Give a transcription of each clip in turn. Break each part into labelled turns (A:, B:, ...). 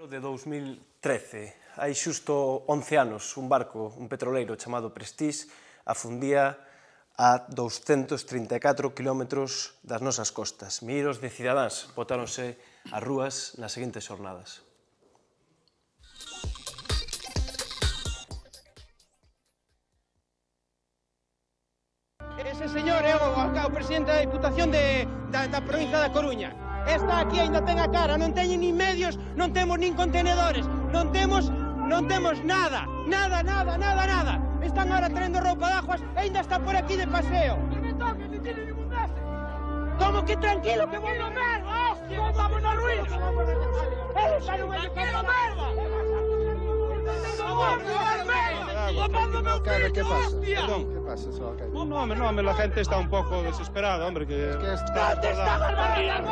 A: De 2013, hai xusto 11 anos, un barco, un petroleiro chamado Prestige, afundía a 234 kilómetros das nosas costas. Milleiros de cidadáns botáronse ás rúas nas seguintes xornadas.
B: Ese señor é o presidente da Diputación da provincia da Coruña. Está aquí, ainda ten a cara, non teñen nin medios, non temos nin contenedores, non temos nada. Están ahora traendo roupa de aguas e ainda está por aquí de paseo. Que me toque, non tiene ningún dese. Como que tranquilo, que vamos a merda, hostia, vamos na ruína. Tranquilo, merda.
C: ¿Qué pasa? Perdón, ¿qué pasa, alcalde?
B: No, la gente está un poco desesperada, hombre, que...
C: ¿Dónde está Barbarita?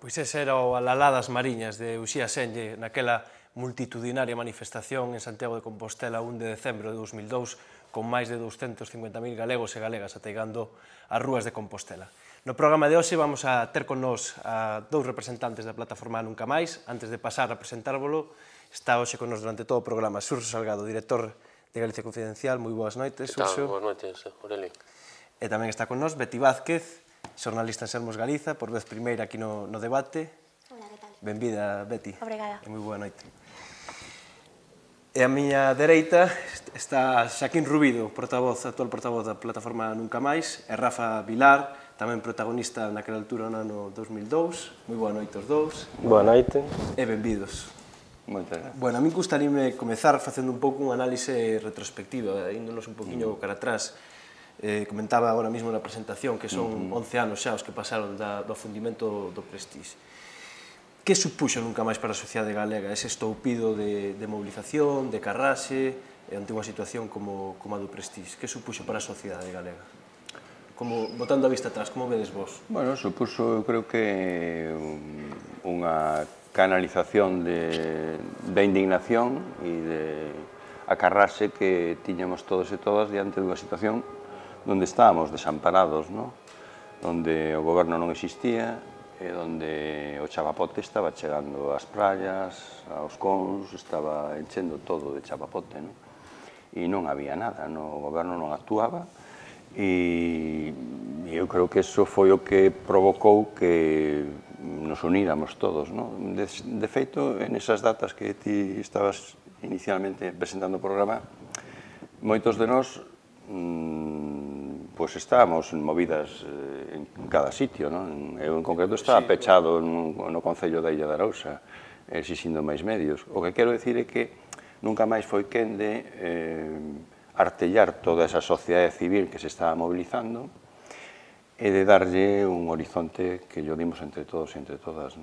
A: Pois ese era o Alalá das Mariñas de Uxía Senlle naquela multitudinaria manifestación en Santiago de Compostela 1 de decembro de 2002 con máis de 250.000 galegos e galegas ateigando as rúas de Compostela. No programa de hoxe vamos a ter con nós a dous representantes da plataforma Nunca Máis. Antes de pasar a presentárvolo, está hoxe con nós durante todo o programa Xurxo Salgado, director de Galicia Confidencial. Moi boas noites, Xurxo.
D: Boas noites, Aurelio.
A: E tamén está con nós Beti Vázquez, xornalista en Sermos Galiza, por vez primeira aquí no debate.
E: Hola, que tal?
A: Benvida, Beti.
E: Obrigada.
A: E moi boa noite. E a miña dereita está Xaquín Rubido, actual portavoz da plataforma Nunca Máis, e Rafa Vilar, tamén protagonista naquela altura no ano 2002. Moi boa noite os dous.
D: Boa noite.
A: E benvidos.
D: Moitas gracias.
A: Bueno, a mí gustaríame comezar facendo un pouco unha análise retrospectiva, índonos un poquinho cara atrás. Comentaba agora mesmo na presentación que son 11 anos xa os que pasaron do afundimento do Prestige. Que supuxo Nunca Máis para a sociedade galega ese estoupido de movilización, de carraxe, ante unha situación como a do Prestige? Que supuxo para a sociedade galega? Botando a vista atrás, como vedes vos?
F: Bueno, supuxo, eu creo que unha canalización de indignación e de acarrase que tiñamos todos e todas diante dunha situación onde estábamos desamparados, onde o goberno non existía e onde o chapapote estaba chegando ás praias, aos cons, estaba enchendo todo de chapapote, e non había nada, o goberno non actuaba e eu creo que eso foi o que provocou que nos uníramos todos. De feito, en esas datas que ti estabas inicialmente presentando o programa, moitos de nós pois estábamos movidas en cada sitio, eu en concreto estaba pechado no Concello da Illa de Arousa, exixindo máis medios. O que quero dicir é que Nunca Máis foi quen de artellar toda esa sociedade civil que se estaba mobilizando e de darlle un horizonte que yo dimos entre todos e entre todas.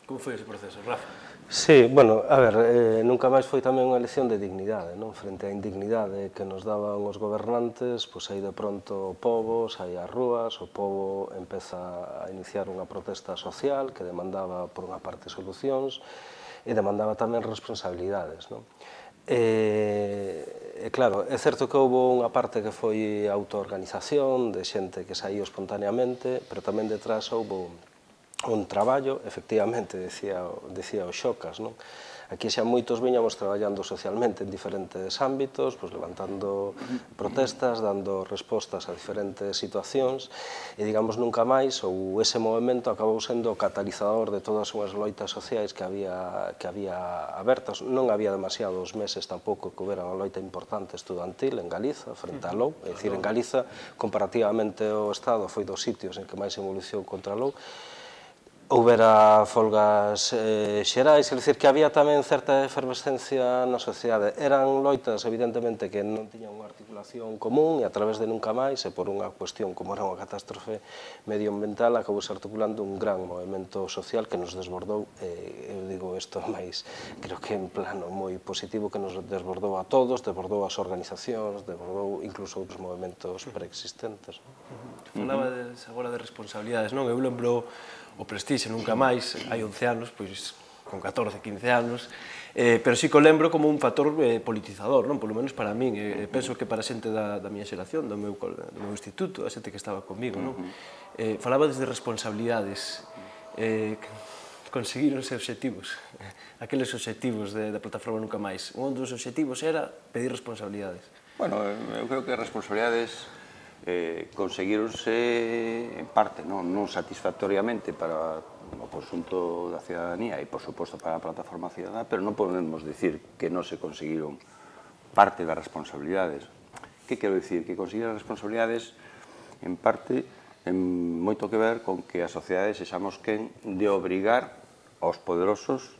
A: Como foi ese proceso, Rafa?
E: Sí, bueno, a ver, nunca máis foi tamén unha elección de dignidade, non? Frente á indignidade que nos daban os gobernantes, pois aí de pronto o pobo sai ás rúas, o pobo empeza a iniciar unha protesta social que demandaba, por unha parte, solucións e demandaba tamén responsabilidades, non? E claro, é certo que houve unha parte que foi autoorganización, de xente que saíu espontaneamente, pero tamén detrás houve un traballo, efectivamente, decía o Xocas, non? Aquí xa moitos viñamos traballando socialmente en diferentes ámbitos, pois levantando protestas, dando respostas a diferentes situacións, e digamos nunca máis, ou ese movimento acabou sendo o catalizador de todas unhas loitas sociais que había abertas. Non había demasiados meses tampouco que houbera unha loita importante estudantil en Galiza, frente á LOU, é dicir, en Galiza, comparativamente o Estado foi dos sitios en que máis evolución contra a LOU. Houbera folgas xerais, é dicir, que había tamén certa efervescencia na sociedade. Eran loitas, evidentemente, que non tiñan unha articulación común e a través de nunca máis, e por unha cuestión como era unha catástrofe medioambiental, acobouse articulando un gran movimento social que nos desbordou, eu digo isto máis, creo que en plano moi positivo, que nos desbordou a todos, desbordou as organizacións, desbordou incluso outros movimentos preexistentes.
A: Falaba agora de responsabilidades, non? Eu lembro o Prestixe nunca máis, hai 11 anos, pois con 14, 15 anos, pero sí que o lembro como un factor politizador, non? Polo menos para min, penso que para a xente da miña xeración, do meu instituto, a xente que estaba comigo, non? Falaba desde responsabilidades, conseguironse obxectivos, aqueles obxectivos da plataforma Nunca Máis. Un dos obxectivos era pedir responsabilidades.
F: Bueno, eu creo que as responsabilidades conseguironse en parte, non satisfactoriamente para o conxunto da cidadanía e, por suposto, para a plataforma cidadana, pero non podemos dicir que non se conseguiron parte das responsabilidades. Que quero dicir? Que conseguir as responsabilidades, en parte, ten moito que ver con que a sociedade sexamos quen de obrigar aos poderosos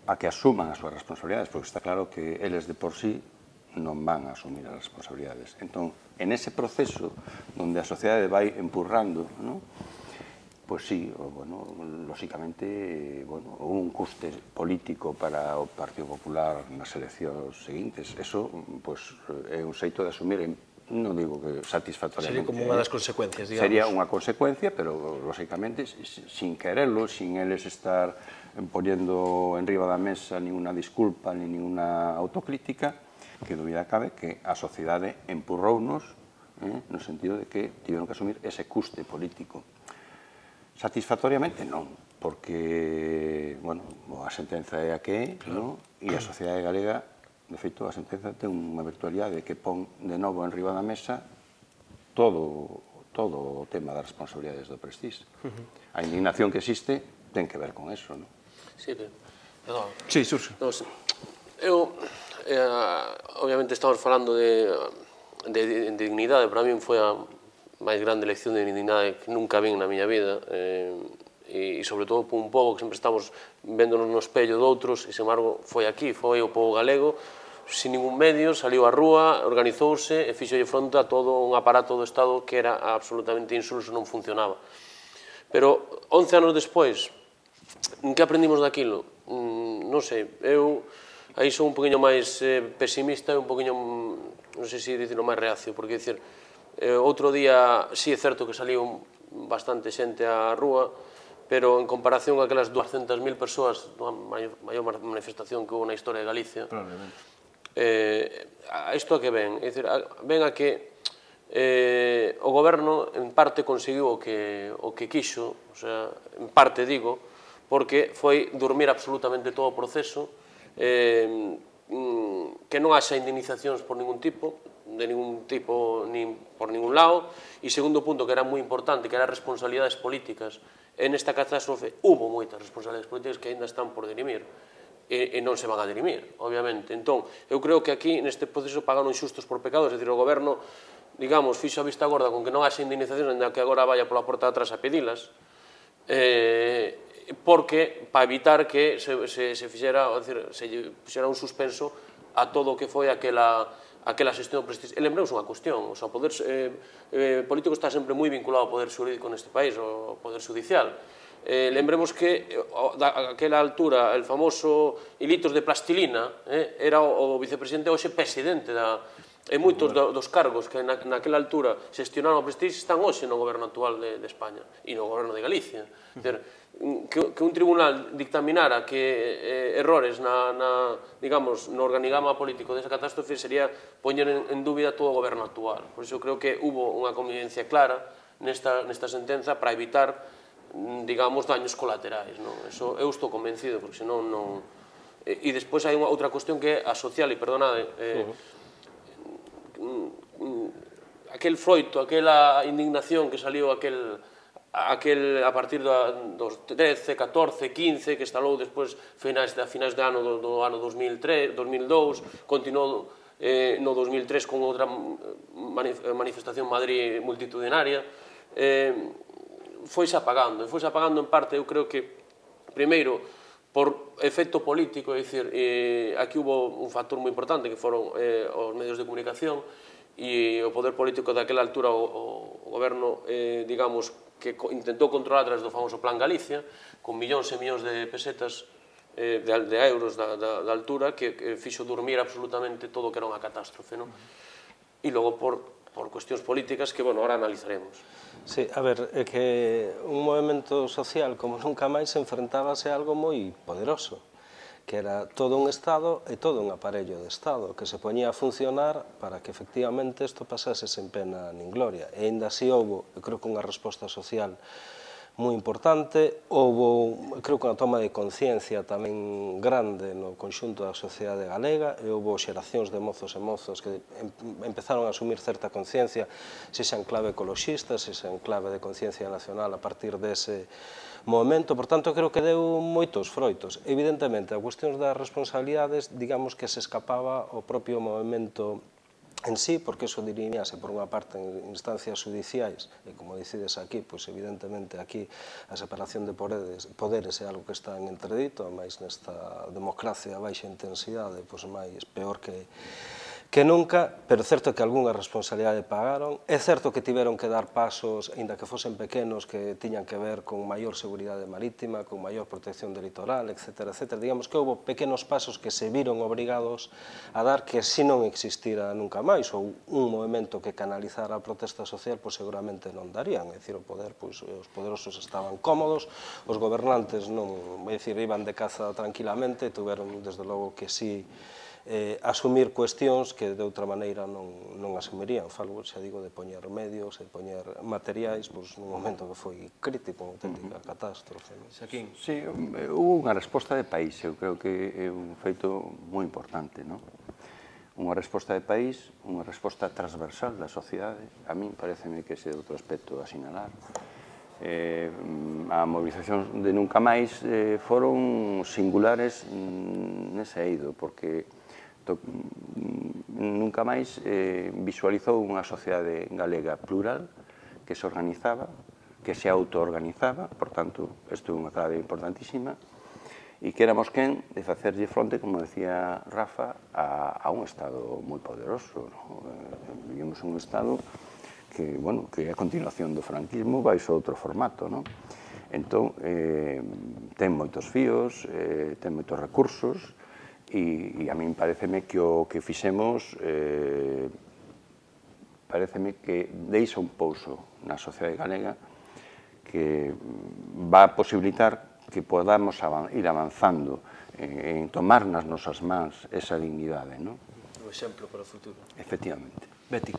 F: a que asuman as súas responsabilidades, porque está claro que eles de por sí non van a asumir as responsabilidades. Entón, en ese proceso onde a sociedade vai empurrando, pois sí, lóxicamente, un custe político para o Partido Popular nas eleccións seguintes. Eso é un xeito de asumir, non digo que satisfactoriamente.
A: Sería como unha das consecuencias, digamos.
F: Sería unha consecuencia, pero lóxicamente sin quererlo, sin eles estar poniendo enriba da mesa ni unha disculpa ni unha autocrítica, que dúbida cabe que a sociedade empurrounos no sentido de que tiveron que asumir ese custe político. Satisfactoriamente non, porque, a sentenza é a que é, e a sociedade galega, de feito, a sentenza ten unha virtualidade que pon de novo enriba da mesa todo o tema das responsabilidades do Prestige. A indignación que existe ten que ver con eso, non?
D: Sí, perdón.
A: Sí, Xurxo.
D: Eu, obviamente, estamos falando de dignidade. Para min foi a máis grande lección de dignidade que nunca vin na miña vida, e sobre todo por un pobo que sempre estamos véndonos no espello de outros, e, sen embargo, foi aquí, foi o pobo galego, sin ningún medio, saliu á rúa, organizouse e fixolle fronte a todo un aparato do Estado que era absolutamente insulso, non funcionaba. Pero 11 anos despois, que aprendimos daquilo? Non sei, eu aí son un poquinho máis pesimista e un poquinho, non sei se dicirlo, máis reacio, porque, dicir, outro día, sí é certo que saliu bastante xente á rúa, pero en comparación a aquelas 200.000 persoas, a maior manifestación que houve na historia de Galicia, isto a que ven? É dicir, ven a que o goberno, en parte, conseguiu o que quixo, o sea, en parte, digo, porque foi dormir absolutamente todo o proceso, que non haxa indemnizacións por ningún tipo, nin por ningún lado, e segundo punto, que era moi importante, que eran responsabilidades políticas. En esta catástrofe hubo moitas responsabilidades políticas que ainda están por dirimir, e non se van a dirimir, obviamente. Entón, eu creo que aquí, neste proceso, pagaron inxustos por pecados, é dicir, o goberno, digamos, fixo a vista gorda con que non haxa indemnizacións, ainda que agora vaya pola porta de atrás a pedilas, porque, para evitar que se fixera un suspenso a todo o que foi aquela xestión Prestige. E lembremos unha cuestión, o poder político está sempre moi vinculado ao poder xurídico neste país, ao poder judicial. lembremos que aquela altura el famoso hilitos de plastilina era o vicepresidente hoxe presidente e moitos dos cargos que naquela altura xestionaron a prestige están hoxe no goberno actual de España e no goberno de Galicia. Que un tribunal dictaminara que errores no organigrama político desa catástrofe sería poñer en dúbida todo o goberno actual. Por iso creo que hubo unha convivencia clara nesta sentenza para evitar, digamos, daños colaterais. Eu estou convencido, porque senón non... E despois hai outra cuestión que é a social, e perdonade, aquel froito, aquela indignación que saliu a partir dos 13, 14, 15, que estalou despois finais de ano do ano 2003, 2002, continuou no 2003 con outra manifestación en Madrid multitudinaria, foise apagando en parte, eu creo que, primeiro, por efecto político, é dicir, aquí hubo un factor moi importante que foron os medios de comunicación e o poder político daquela altura, o goberno, digamos, que intentou controlar a través do famoso Plan Galicia, con millóns e millóns de pesetas, de euros da altura, que fixo dormir absolutamente todo o que era unha catástrofe. E logo por cuestións políticas que, bueno, ahora analizaremos.
E: Sí, a ver, é que un movimento social como nunca máis se enfrentábase a algo moi poderoso, que era todo un Estado e todo un aparello de Estado que se poñía a funcionar para que efectivamente isto pasase sen pena nin gloria. E ainda así houve, eu creo que unha resposta social moi importante, houve, creo que unha toma de conciencia tamén grande no conxunto da sociedade galega, e houve xeracións de mozos e mozos que empezaron a asumir certa conciencia, se xa en clave ecoloxista, se xa en clave de conciencia nacional a partir dese momento. Por tanto, creo que deu moitos froitos. Evidentemente, a cuestión das responsabilidades, digamos que se escapaba o propio movimento en sí, porque eso diriñase por unha parte en instancias judiciais, e como decides aquí, pois evidentemente aquí a separación de poderes é algo que está en entredito, máis nesta democracia a baixa intensidade, pois máis peor que nunca, pero é certo que algunha responsabilidade pagaron. É certo que tiveron que dar pasos, aínda que fosen pequenos, que tiñan que ver con maior seguridade marítima, con maior protección do litoral, etc. Digamos que houve pequenos pasos que se viron obrigados a dar que se non existira nunca máis, ou un movimento que canalizara a protesta social, pois seguramente non darían. É dicir, o poder, pois os poderosos estaban cómodos, os gobernantes non, é dicir, iban de caza tranquilamente, tuveron, desde logo, que sí asumir cuestións que de outra maneira non asumirían. Falo, xa digo, de poñer medios, de poñer materiais, nun momento que foi crítico, unha auténtica catástrofe.
A: Xaquín.
F: Sí, houve unha resposta de país, eu creo que é un feito moi importante, non? Unha resposta de país, unha resposta transversal da sociedade, a min pareceme que ese é outro aspecto a sinalar. A movilización de Nunca Máis foron singulares nese eido, porque Nunca Máis visualizou unha sociedade galega plural que se organizaba, que se autoorganizaba, por tanto, isto é unha clave importantísima, e que éramos quen de facerlle fronte, como decía Rafa, a un Estado moi poderoso. Vivimos un Estado que, bueno, que a continuación do franquismo vai a outro formato, non? Entón, ten moitos fíos, ten moitos recursos, e a min pareceme que o que fixemos pareceme que deixa un pouso na sociedade galega que va a posibilitar que podamos ir avanzando en tomar nas nosas mans esa dignidade, non?
A: O exemplo para o futuro.
F: Efectivamente.
A: Betty.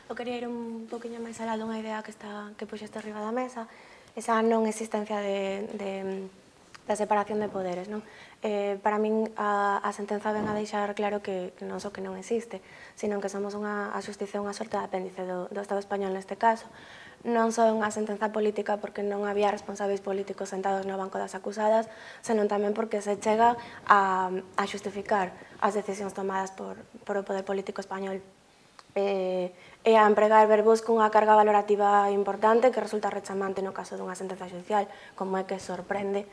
G: Eu quería ir un poquinho máis alá dunha idea que puxeste arriba da mesa, esa non existencia da separación de poderes, non? Para min a sentenza ven a deixar claro que non só que non existe, sino que somos a xusticia unha sorte de apéndice do Estado español neste caso. Non só unha sentenza política porque non había responsáveis políticos sentados no banco das acusadas, senón tamén porque se chega a xustificar as decisións tomadas por o poder político español e a empregar verbos cunha carga valorativa importante que resulta rechamante no caso dunha sentenza xudicial, como é que sorprende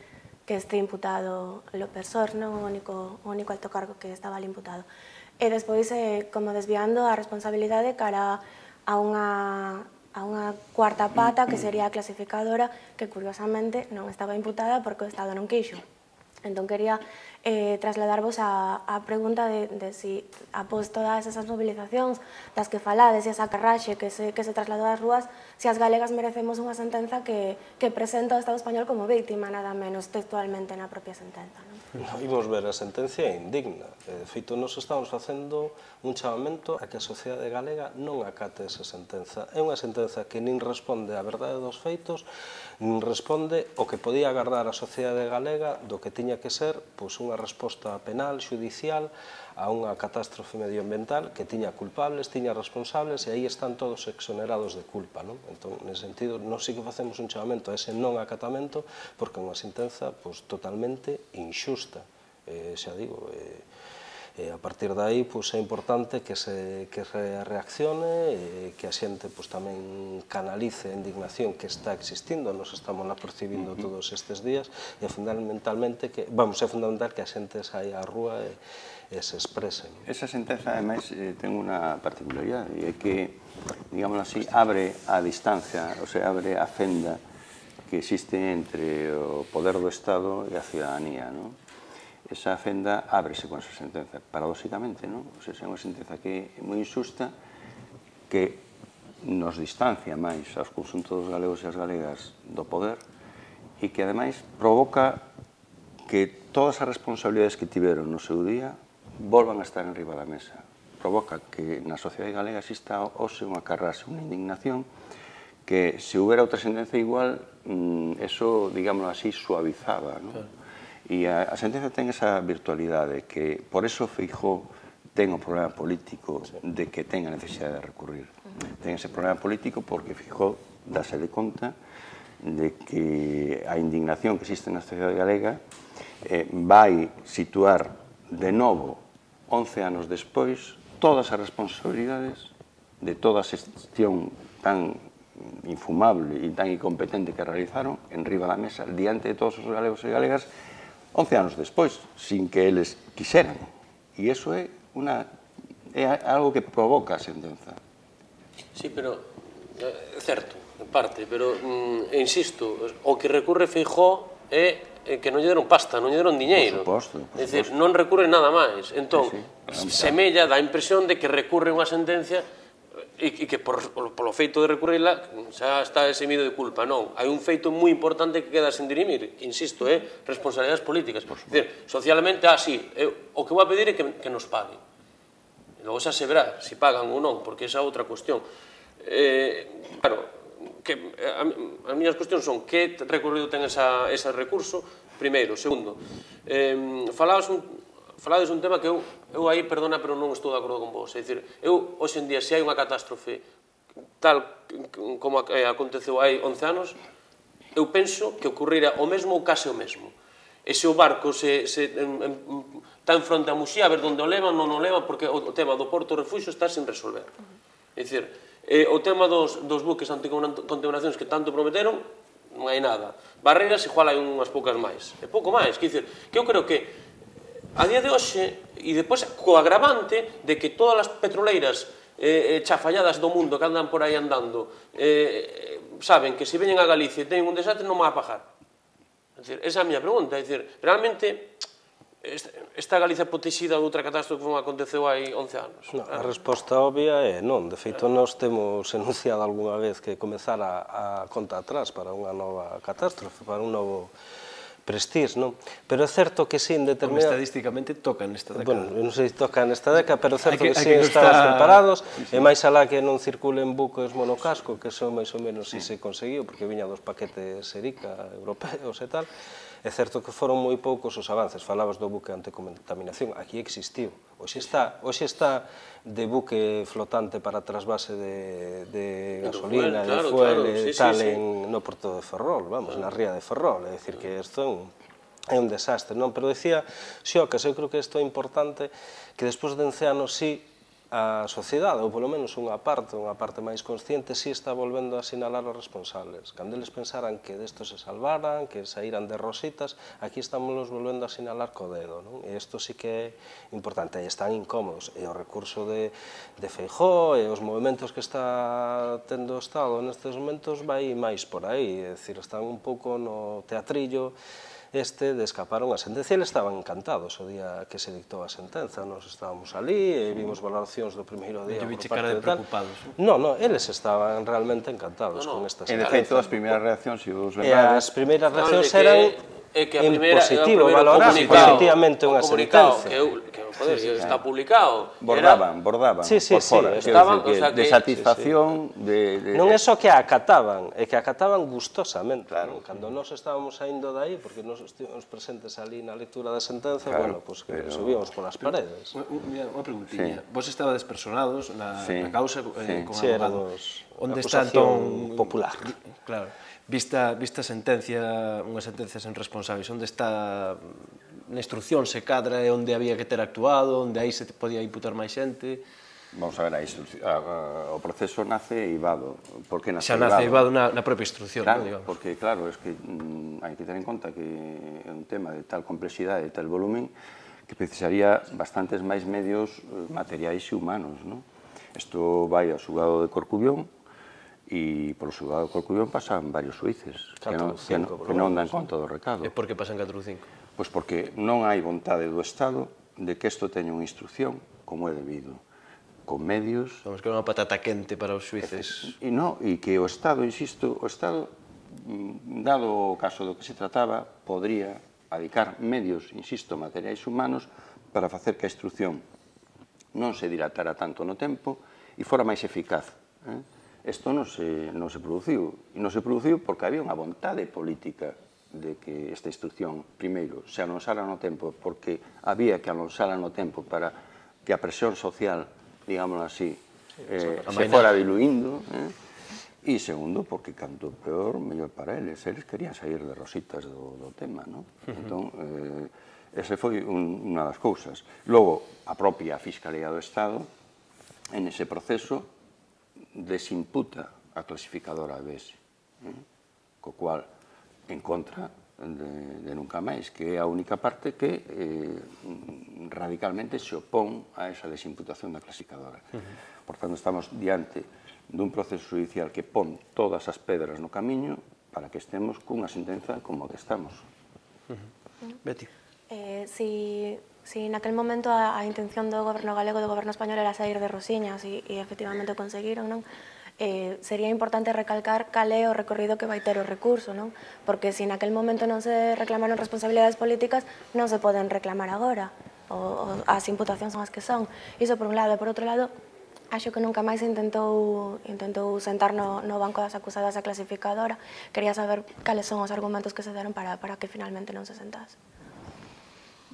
G: que este imputado López Sors, non o único alto cargo que estaba ali imputado. E despois, como desviando a responsabilidade cara a unha cuarta pata, que sería a clasificadora, que curiosamente non estaba imputada porque o Estado non quixo. Entón, quería trasladarvos a pregunta de si, após todas esas movilizacións das que falades e esa carraxe que se trasladou ás rúas, se as galegas merecemos unha sentenza que presenta o Estado español como víctima, nada menos textualmente na propia sentenza.
E: Imos ver a sentencia indigna. De feito, nos estamos facendo un chamamento a que a sociedade galega non acate esa sentenza. É unha sentenza que nin responde á verdade dos feitos, nin responde o que podía agardar a sociedade galega do que tiña que ser unha resposta penal, judicial, a unha catástrofe medioambiental que tiña culpables, tiña responsables, e aí están todos exonerados de culpa. Entón, nese sentido, nós sí que facemos un chamamento a ese non acatamento, porque é unha sentenza totalmente injusta. Xa digo, a partir de aí é importante que se reaccione, que a xente tamén canalice a indignación que está existindo, nos estamos percibindo todos estes días, e fundamentalmente é fundamental que a xente saia á rúa e se exprese.
F: Esa sentenza, ademais, ten unha particularidade, e é que, digámoslo así, abre a distancia, ou sea, abre a fenda que existe entre o poder do Estado e a ciudadanía, non? Esa fenda ábrese con esa sentenza, paradóxicamente, non? O sea, é unha sentenza que é moi injusta, que nos distancia máis aos conxuntos dos galegos e as galegas do poder, e que, ademais, provoca que todas as responsabilidades que tiveron no seu día volvan a estar en riba da mesa. Provoca que na sociedade galega exista hoxe unha carrase, unha indignación, que se houbera outra sentenza igual, eso, digámoslo así, suavizaba, non? E a sentenza ten esa virtualidade que, por eso Feijóo ten o problema político de que ten a necesidade de recurrir. Ten ese problema político porque Feijóo dáse de conta de que a indignación que existe na sociedade galega vai situar de novo, 11 anos despois, todas as responsabilidades de toda a xestión tan infumable e tan incompetente que realizaron en riba da mesa, diante de todos os galegos e galegas, 11 anos despois, sin que eles quixeran. E iso é algo que provoca a sentenza.
D: Sí, pero é certo, en parte, pero insisto, o que recurre Feijóo é que non lle deron pasta, non lle deron diñeiro.
F: Por suposto.
D: É dicir, non recurre nada máis. Entón, semella, dá a impresión de que recurre unha sentencia e que polo feito de recurrirla xa está eximido de culpa. Non, hai un feito moi importante que queda sen dirimir, que, insisto, é responsabilidades políticas. É dicir, socialmente, sí, o que vou a pedir é que nos paguen. Logo xa se verá se pagan ou non, porque esa é outra cuestión. Claro, as miñas cuestións son que recorrido ten ese recurso, primeiro. Segundo, falades un tema que eu aí, perdona, pero non estou de acordo con vos. É dicir, eu, hoxe en día, se hai unha catástrofe tal como aconteceu hai 11 anos, eu penso que ocurrira o mesmo ou case o mesmo. E se o barco está en fronte a Muxía, a ver onde o levan, non o levan, porque o tema do porto refugio está sin resolver. É dicir, o tema dos buques anticontaminacións que tanto prometeron, non hai nada. Barreiras, igual hai unhas poucas máis. É pouco máis. Que eu creo que a día de hoxe, e depois co agravante de que todas as petroleiras chafalladas do mundo que andan por aí andando saben que se veñen a Galicia e teñen un desastre non van a pagar. Esa é a miña pregunta. Realmente está Galicia protexida de outra catástrofe que aconteceu hai 11 anos?
E: A resposta obvia é non. De feito, nós temos enunciado algunha vez que comezar a conta atrás para unha nova catástrofe, para un novo Prestige, non? Pero é certo que sí, en determinada...
A: Estadísticamente toca nesta década.
E: Bueno, non sei se toca nesta década, pero é certo que sí estamos preparados, e máis alá que non circulen buques monocasco, que son máis ou menos si se conseguiu, porque viña dos paquetes Erica europeos e tal. É certo que foron moi poucos os avances. Falabas do buque anticontaminación, aquí existiu. Hoxe está de buque flotante para trasvase de gasolina, de fuel e tal no porto de Ferrol, vamos, na ría de Ferrol. É dicir que isto é un desastre, non? Pero decía Xocas, eu creo que isto é importante, que despois de 11 anos sí a sociedade, ou polo menos unha parte máis consciente, si está volvendo a sinalar os responsables. Cando eles pensaran que desto se salvaran, que saíran de rositas, aquí estamos volvendo a sinalar co dedo, non? E isto sí que é importante, e están incómodos. E o recurso de Feijóo e os movimentos que está tendo o Estado nestes momentos vai máis por aí, é dicir, están un pouco no teatrillo de escapar unha sentencia. Eles estaban encantados o día que se dictou a sentenza, nos estábamos ali e vimos valoracións do primeiro día por parte de tal. Non, eles estaban realmente encantados con esta sentencia.
F: En efecto, as primeiras reaccións, se vos
E: lembrades... E as primeiras reaccións eran en positivo, valorar positivamente unha sentencia.
D: Está publicado.
F: Bordaban por fora. De satisfacción.
E: Non é só que a acataban, é que a acataban gustosamente. Cando nós estábamos saindo de aí, porque nós estivemos presentes ali na lectura da sentenza, bueno, pois que subíamos polas paredes.
A: Unha preguntilla. Vos estabades personados na causa con
E: abogado.
A: Onde está entón
E: popular?
A: Claro. Vista sentencia, unha sentencia sen responsables, onde está na instrucción se cadra e onde había que ter actuado, onde aí se podía imputar máis xente?
F: Vamos a ver, o proceso nace eivado.
A: Xa nace eivado na propia instrucción,
F: non? Porque, claro, é que hai que ter en conta que é un tema de tal complexidade, de tal volumen, que precisaría bastantes máis medios materiais e humanos, non? Isto vai ao xulgado de Corcubión, e polo xulgado de Corcubión pasan varios xuíces que non dan conta do recado.
A: E por que pasan 4 ou 5?
F: Pois porque non hai vontade do Estado de que isto teña unha instrucción como é debido, con medios...
A: Vamos, que é unha patata quente para os xuíces.
F: E non, e que o Estado, insisto, o Estado, dado o caso do que se trataba, podría adicar medios, insisto, materiais humanos para facer que a instrucción non se dilatara tanto no tempo e fora máis eficaz. Isto non se produciu, e non se produciu porque había unha vontade política de que esta instrucción, primeiro, se anonsara no tempo, porque había que anonsala no tempo para que a presión social, digámoslo así, se fora diluindo, e segundo, porque canto peor, mellor para eles. Eles querían sair de rositas do tema, non? Entón, ese foi unha das cousas. Logo, a propia Fiscalía do Estado, en ese proceso, desimputa a clasificadora ABS, co cual en contra de Nunca Máis, que é a única parte que radicalmente se opón a esa desimputación da clasificadora. Por tanto, estamos diante dun proceso judicial que pon todas as pedras no camiño para que estemos cunha sentenza como a que estamos.
A: Beti.
G: Si naquel momento a intención do goberno galego e do goberno español era sair de rosiñas e efectivamente conseguiron, non? Sería importante recalcar cal é o recorrido que vai ter o recurso, non? Porque se naquel momento non se reclamaron responsabilidades políticas, non se poden reclamar agora. As imputacións son as que son. Iso por un lado, e por outro lado, acho que nunca máis intentou sentar no banco das acusadas a clasificadora. Quería saber cales son os argumentos que se deron para que finalmente non se sentase.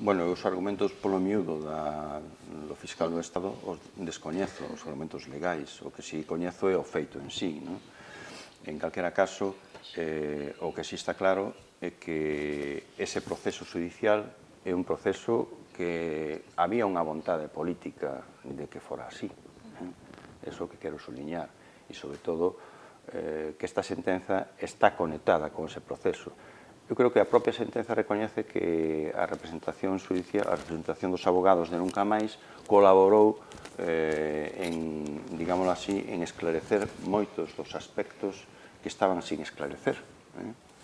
F: Bueno, os argumentos polo miúdo do fiscal do Estado os descoñezo, os argumentos legais. O que si coñezo é o feito en sí, non? En calquera caso, o que si está claro é que ese proceso judicial é un proceso que había unha vontade política de que fora así. É o que quero subliñar. E, sobre todo, que esta sentenza está conectada con ese proceso. Eu creo que a propia sentenza recoñece que a representación judicial, a representación dos abogados de Nunca Máis colaborou en, digámoslo así, en esclarecer moitos dos aspectos que estaban sin esclarecer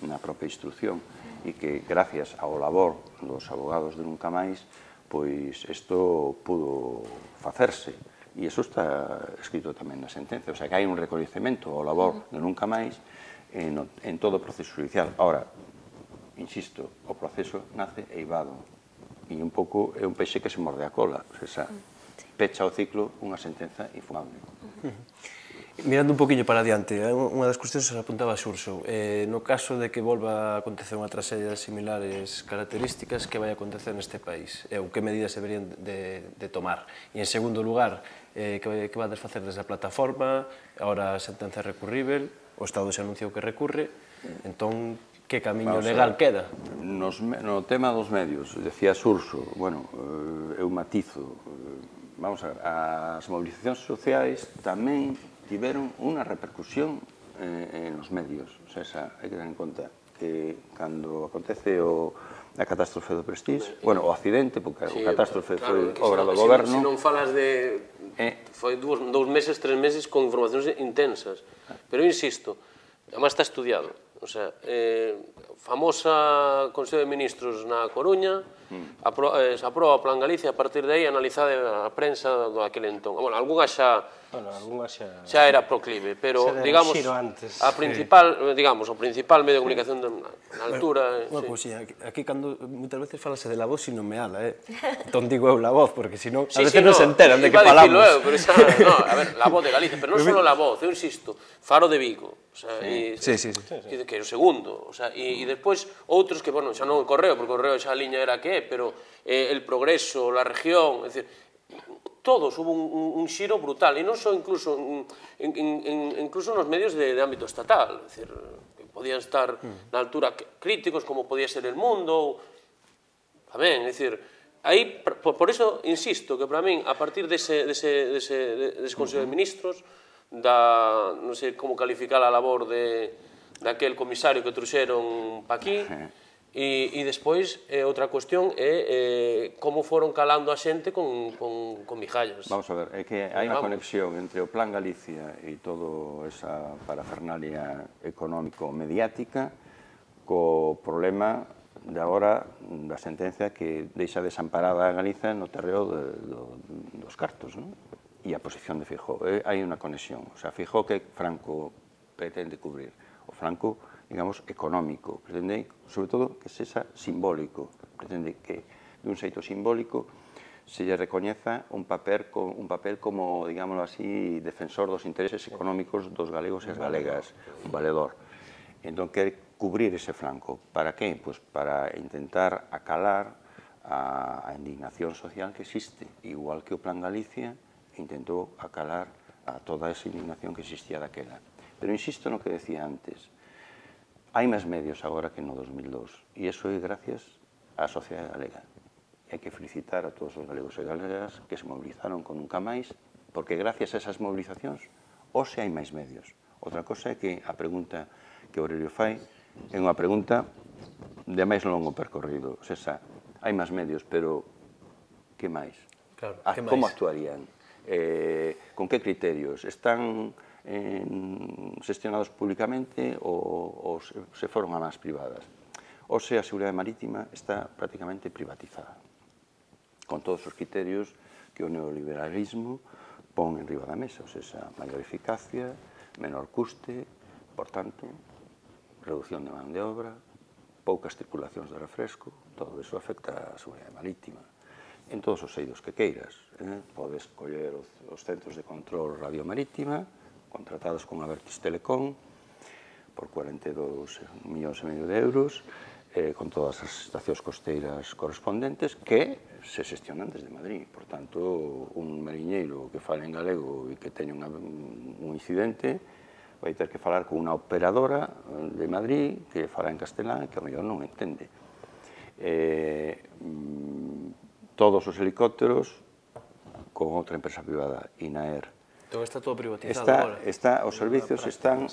F: na propia instrucción e que gracias ao labor dos abogados de Nunca Máis pois isto pudo facerse e iso está escrito tamén na sentenza, o sea que hai un recoñecemento ao labor de Nunca Máis en todo o proceso judicial. Ahora, insisto, o proceso nace eivado e un pouco é un peixe que se morde a cola, o sea, pecha o ciclo unha sentenza infumable.
A: Mirando un poquinho para adiante, unha das cuestións se apuntaba a Xurxo. No caso de que volva a acontecer unha traxedia de similares características, que vai acontecer neste país? Ou que medidas se deberían de tomar? E, en segundo lugar, que vai desfacer desde a plataforma? Ahora a sentenza é recurrível, o Estado xa anunciou que recurre, entón, que camiño legal queda?
F: No tema dos medios, decía Xurxo, bueno, eu matizo, vamos a ver, as mobilizacións sociais tamén tiveron unha repercusión en os medios. O sea, hai que ter en conta que cando acontece a catástrofe do Prestige, bueno, o accidente, porque o catástrofe foi obra do goberno.
D: Se non falas de... Foi 2 meses, 3 meses con informacións intensas. Pero insisto, además está estudiado. O sea, famosa Consello de Ministros na Coruña, se aproba o Plan Galicia, a partir de aí analizada a prensa do aquel entón. Bueno, algunha xa era proclive, pero, digamos, o principal medio de comunicación na altura...
A: Unha cousinha, aquí cando moitas veces falase de la voz sin nomeala, entón digo eu la voz, porque senón a veces non se enteran de que falamos.
D: A ver, la voz de Galicia, pero non só la voz, eu insisto, Faro de Vigo, que é o segundo, e despois outros que, bueno, xa non o Correo, porque o Correo xa a liña era que é, pero el Progreso, la Región, é dicir, todos hubo un xiro brutal, e non só incluso nos medios de ámbito estatal, é dicir, que podían estar na altura críticos, como podía ser El Mundo, tamén, é dicir, aí, por iso, insisto, que para min, a partir dese Consello de Ministros, non sei como calificar a labor daquel comisario que trouxeron pa aquí, e despois, outra cuestión é como foron calando a xente con migallas.
F: Vamos a ver, é que hai unha conexión entre o Plan Galicia e toda esa parafernalia económico-mediática co problema de agora da sentencia que deixa desamparada a Galiza no terreo dos cartos, e a posición de Feijóo. Hai unha conexión. O sea, Feijóo que Franco pretende cubrir. O Franco, digamos, económico. Pretende, sobre todo, que sexa simbólico. Pretende que, dun xeito simbólico, se lle recoñeza un papel como, digámoslo así, defensor dos intereses económicos dos galegos e as galegas, un valedor. Entón, quere cubrir ese flanco. Para que? Pois para intentar acalar a indignación social que existe, igual que o Plan Galicia intentou acalar a toda esa indignación que existía daquela. Pero insisto no que decía antes, hai máis medios agora que no 2002, e iso é gracias á sociedade galega. Hai que felicitar a todos os galegos e galegas que se movilizaron con nunca máis, porque gracias a esas movilizacións, hoxe hai máis medios. Outra cosa é que a pregunta que Aurelio fai é unha pregunta de máis longo percorrido. O sea, hai máis medios, pero que máis? Como actuarían? Con que criterios? Están xestionados públicamente ou se foron a mans privadas? Hoxe a seguridade marítima está prácticamente privatizada, con todos os criterios que o neoliberalismo pon en riba da mesa, ou seja, maior eficacia, menor custe, por tanto, reducción de man de obra, poucas tripulacións de refresco, todo iso afecta a seguridade marítima. En todos os eidos que queiras, podes coller os centros de control radiomarítima, contratados con Abertis Telecom, por 42,5 millóns de euros, con todas as estacións costeiras correspondentes que se xestionan desde Madrid. Por tanto, un mariñeiro que fale en galego e que teña un incidente vai ter que falar con unha operadora de Madrid que fala en castelán e que ao mellor non entende. Todos os helicópteros con outra empresa privada, INAER.
A: Entón está todo privatizado agora?
F: Os servicios están,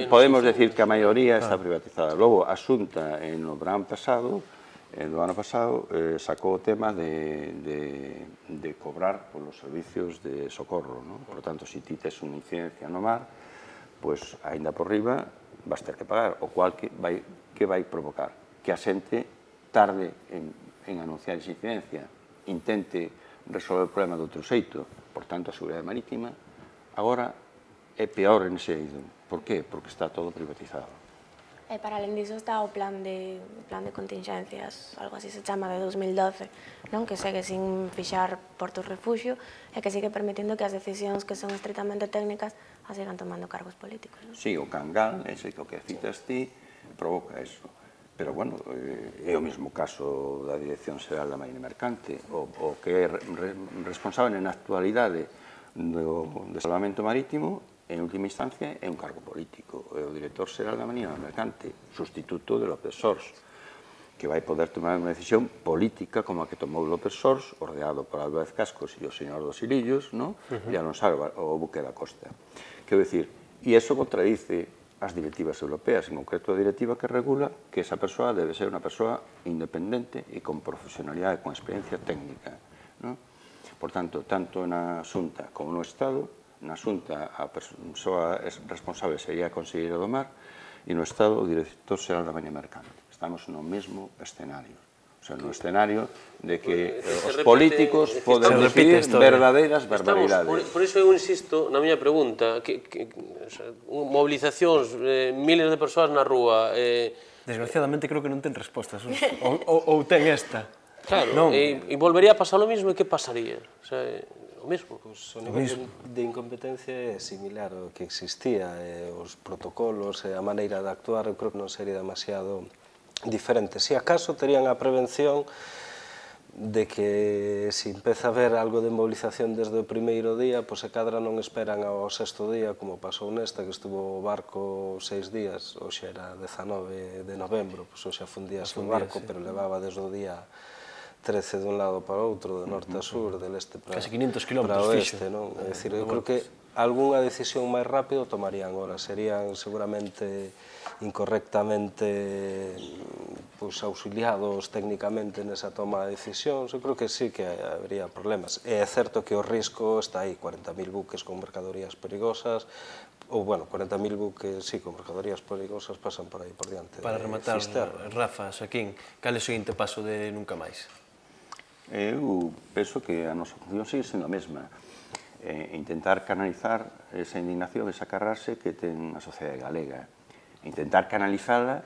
F: podemos decir que a maioría está privatizada. Logo, a Xunta, no verán pasado, do ano pasado, sacou o tema de cobrar polos servicios de socorro. Por lo tanto, se ti tes unha incidencia no mar, pois, aínda por riba, vas ter que pagar, o cual que vai provocar? Que a xente tarde en anunciar esa incidencia, intente resolver o problema de outro xeito. Por tanto, a seguridade marítima agora é peor en ese eido. Por qué? Porque está todo privatizado.
G: E para alén diso está o plan de contingencias, algo así se chama, de 2012, que segue sin fixar portos refugio e que sigue permitindo que as decisións que son estritamente técnicas as sigan tomando cargos políticos.
F: Sí, o Cangal, ese que citas ti, provoca eso. Pero, bueno, é o mesmo caso da Dirección Xeral da Marina Mercante, o que é responsable na actualidade do salvamento marítimo, en última instancia, é un cargo político. É o Director Xeral da Marina Mercante, sustituto de López Sors. que vai poder tomar unha decisión política como a que tomou López Sors, ordeado por Álvarez Cascos e o señor dos Hilillos, e Alonso Álvarez, o buque da Costa. Quero dicir, e iso contradice as directivas europeas, en concreto a directiva que regula que esa persoa debe ser unha persoa independente e con profesionalidade, con experiencia técnica. Por tanto, tanto na Xunta como no Estado, na Xunta a persoa responsable sería a conselleira do Mar e no Estado o director xeral da Maña Mercante. Estamos no mesmo escenario. O sea, no escenario de que os políticos poden decidir verdadeiras barbaridades.
D: Por iso eu insisto na miña pregunta, movilizacións, miles de persoas na rúa...
A: Desgraciadamente creo que non ten respostas, ou ten esta.
D: Claro, e volvería a pasar o mismo, e que pasaría? O mesmo.
E: O nivel de incompetencia é similar ao que existía, os protocolos e a maneira de actuar, eu creo que non sería demasiado diferente. Si acaso terían a prevención de que se empeza a ver algo de movilización desde o primeiro día, pois se cadra non esperan ao sexto día, como pasou nesta, que estuvo o barco 6 días, hoxe era 19 de novembro, pois hoxe afundíase o barco, pero levaba desde o día 13 dun lado para outro, de norte a sur, del este para
A: casi 500 km
E: oeste, non? É dicir, eu creo que algunha decisión máis rápido tomarían ahora, serían seguramente incorrectamente auxiliados técnicamente nesa toma de decisións. Eu creo que sí que habría problemas. É certo que o risco está aí, 40.000 buques con mercadorías perigosas, ou, bueno, 40.000 buques, sí, con mercadorías perigosas pasan por aí por diante.
A: Para rematar, Rafa, Xaquín, cal é o seguinte paso de Nunca Máis?
F: Eu penso que a nosa función sigue sendo a mesma. Intentar canalizar esa indignación, esa carrase que ten a sociedade galega. Intentar canalizala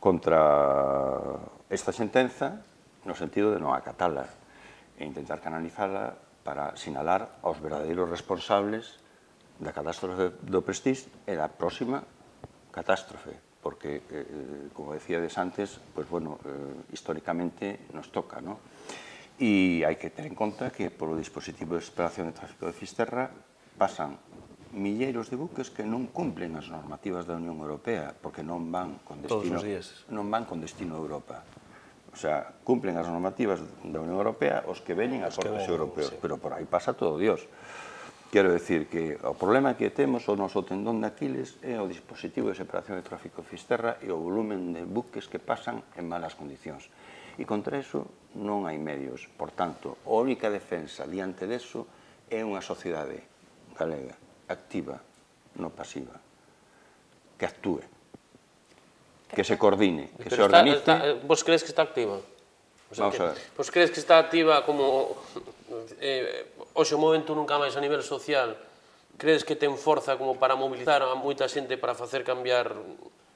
F: contra esta sentenza no sentido de non acatala. E intentar canalizala para sinalar aos verdadeiros responsables da catástrofe do Prestige e da próxima catástrofe. Porque, como decíades antes, históricamente nos toca, non? E hai que ter en conta que polo dispositivo de exploración de tráfico de Fisterra pasan milleiros de buques que non cumplen as normativas da Unión Europea porque non van con destino a Europa. O sea, cumplen as normativas da Unión Europea os que veñen a portos europeos, pero por aí pasa todo Dios. Quero decir que o problema que temos, o noso tendón de Aquiles, é o dispositivo de separación de tráfico de Fisterra e o volumen de buques que pasan en malas condicións. E contra iso non hai medios. Por tanto, a única defensa diante deso é unha sociedade galega activa, non pasiva, que actúe, que se coordine, que se organice.
D: Vos crees que está activa?
F: Vamos a ver.
D: Vos crees que está activa como hoxe o momento Nunca Máis a nivel social? Crees que ten forza como para mobilizar a moita xente para facer cambiar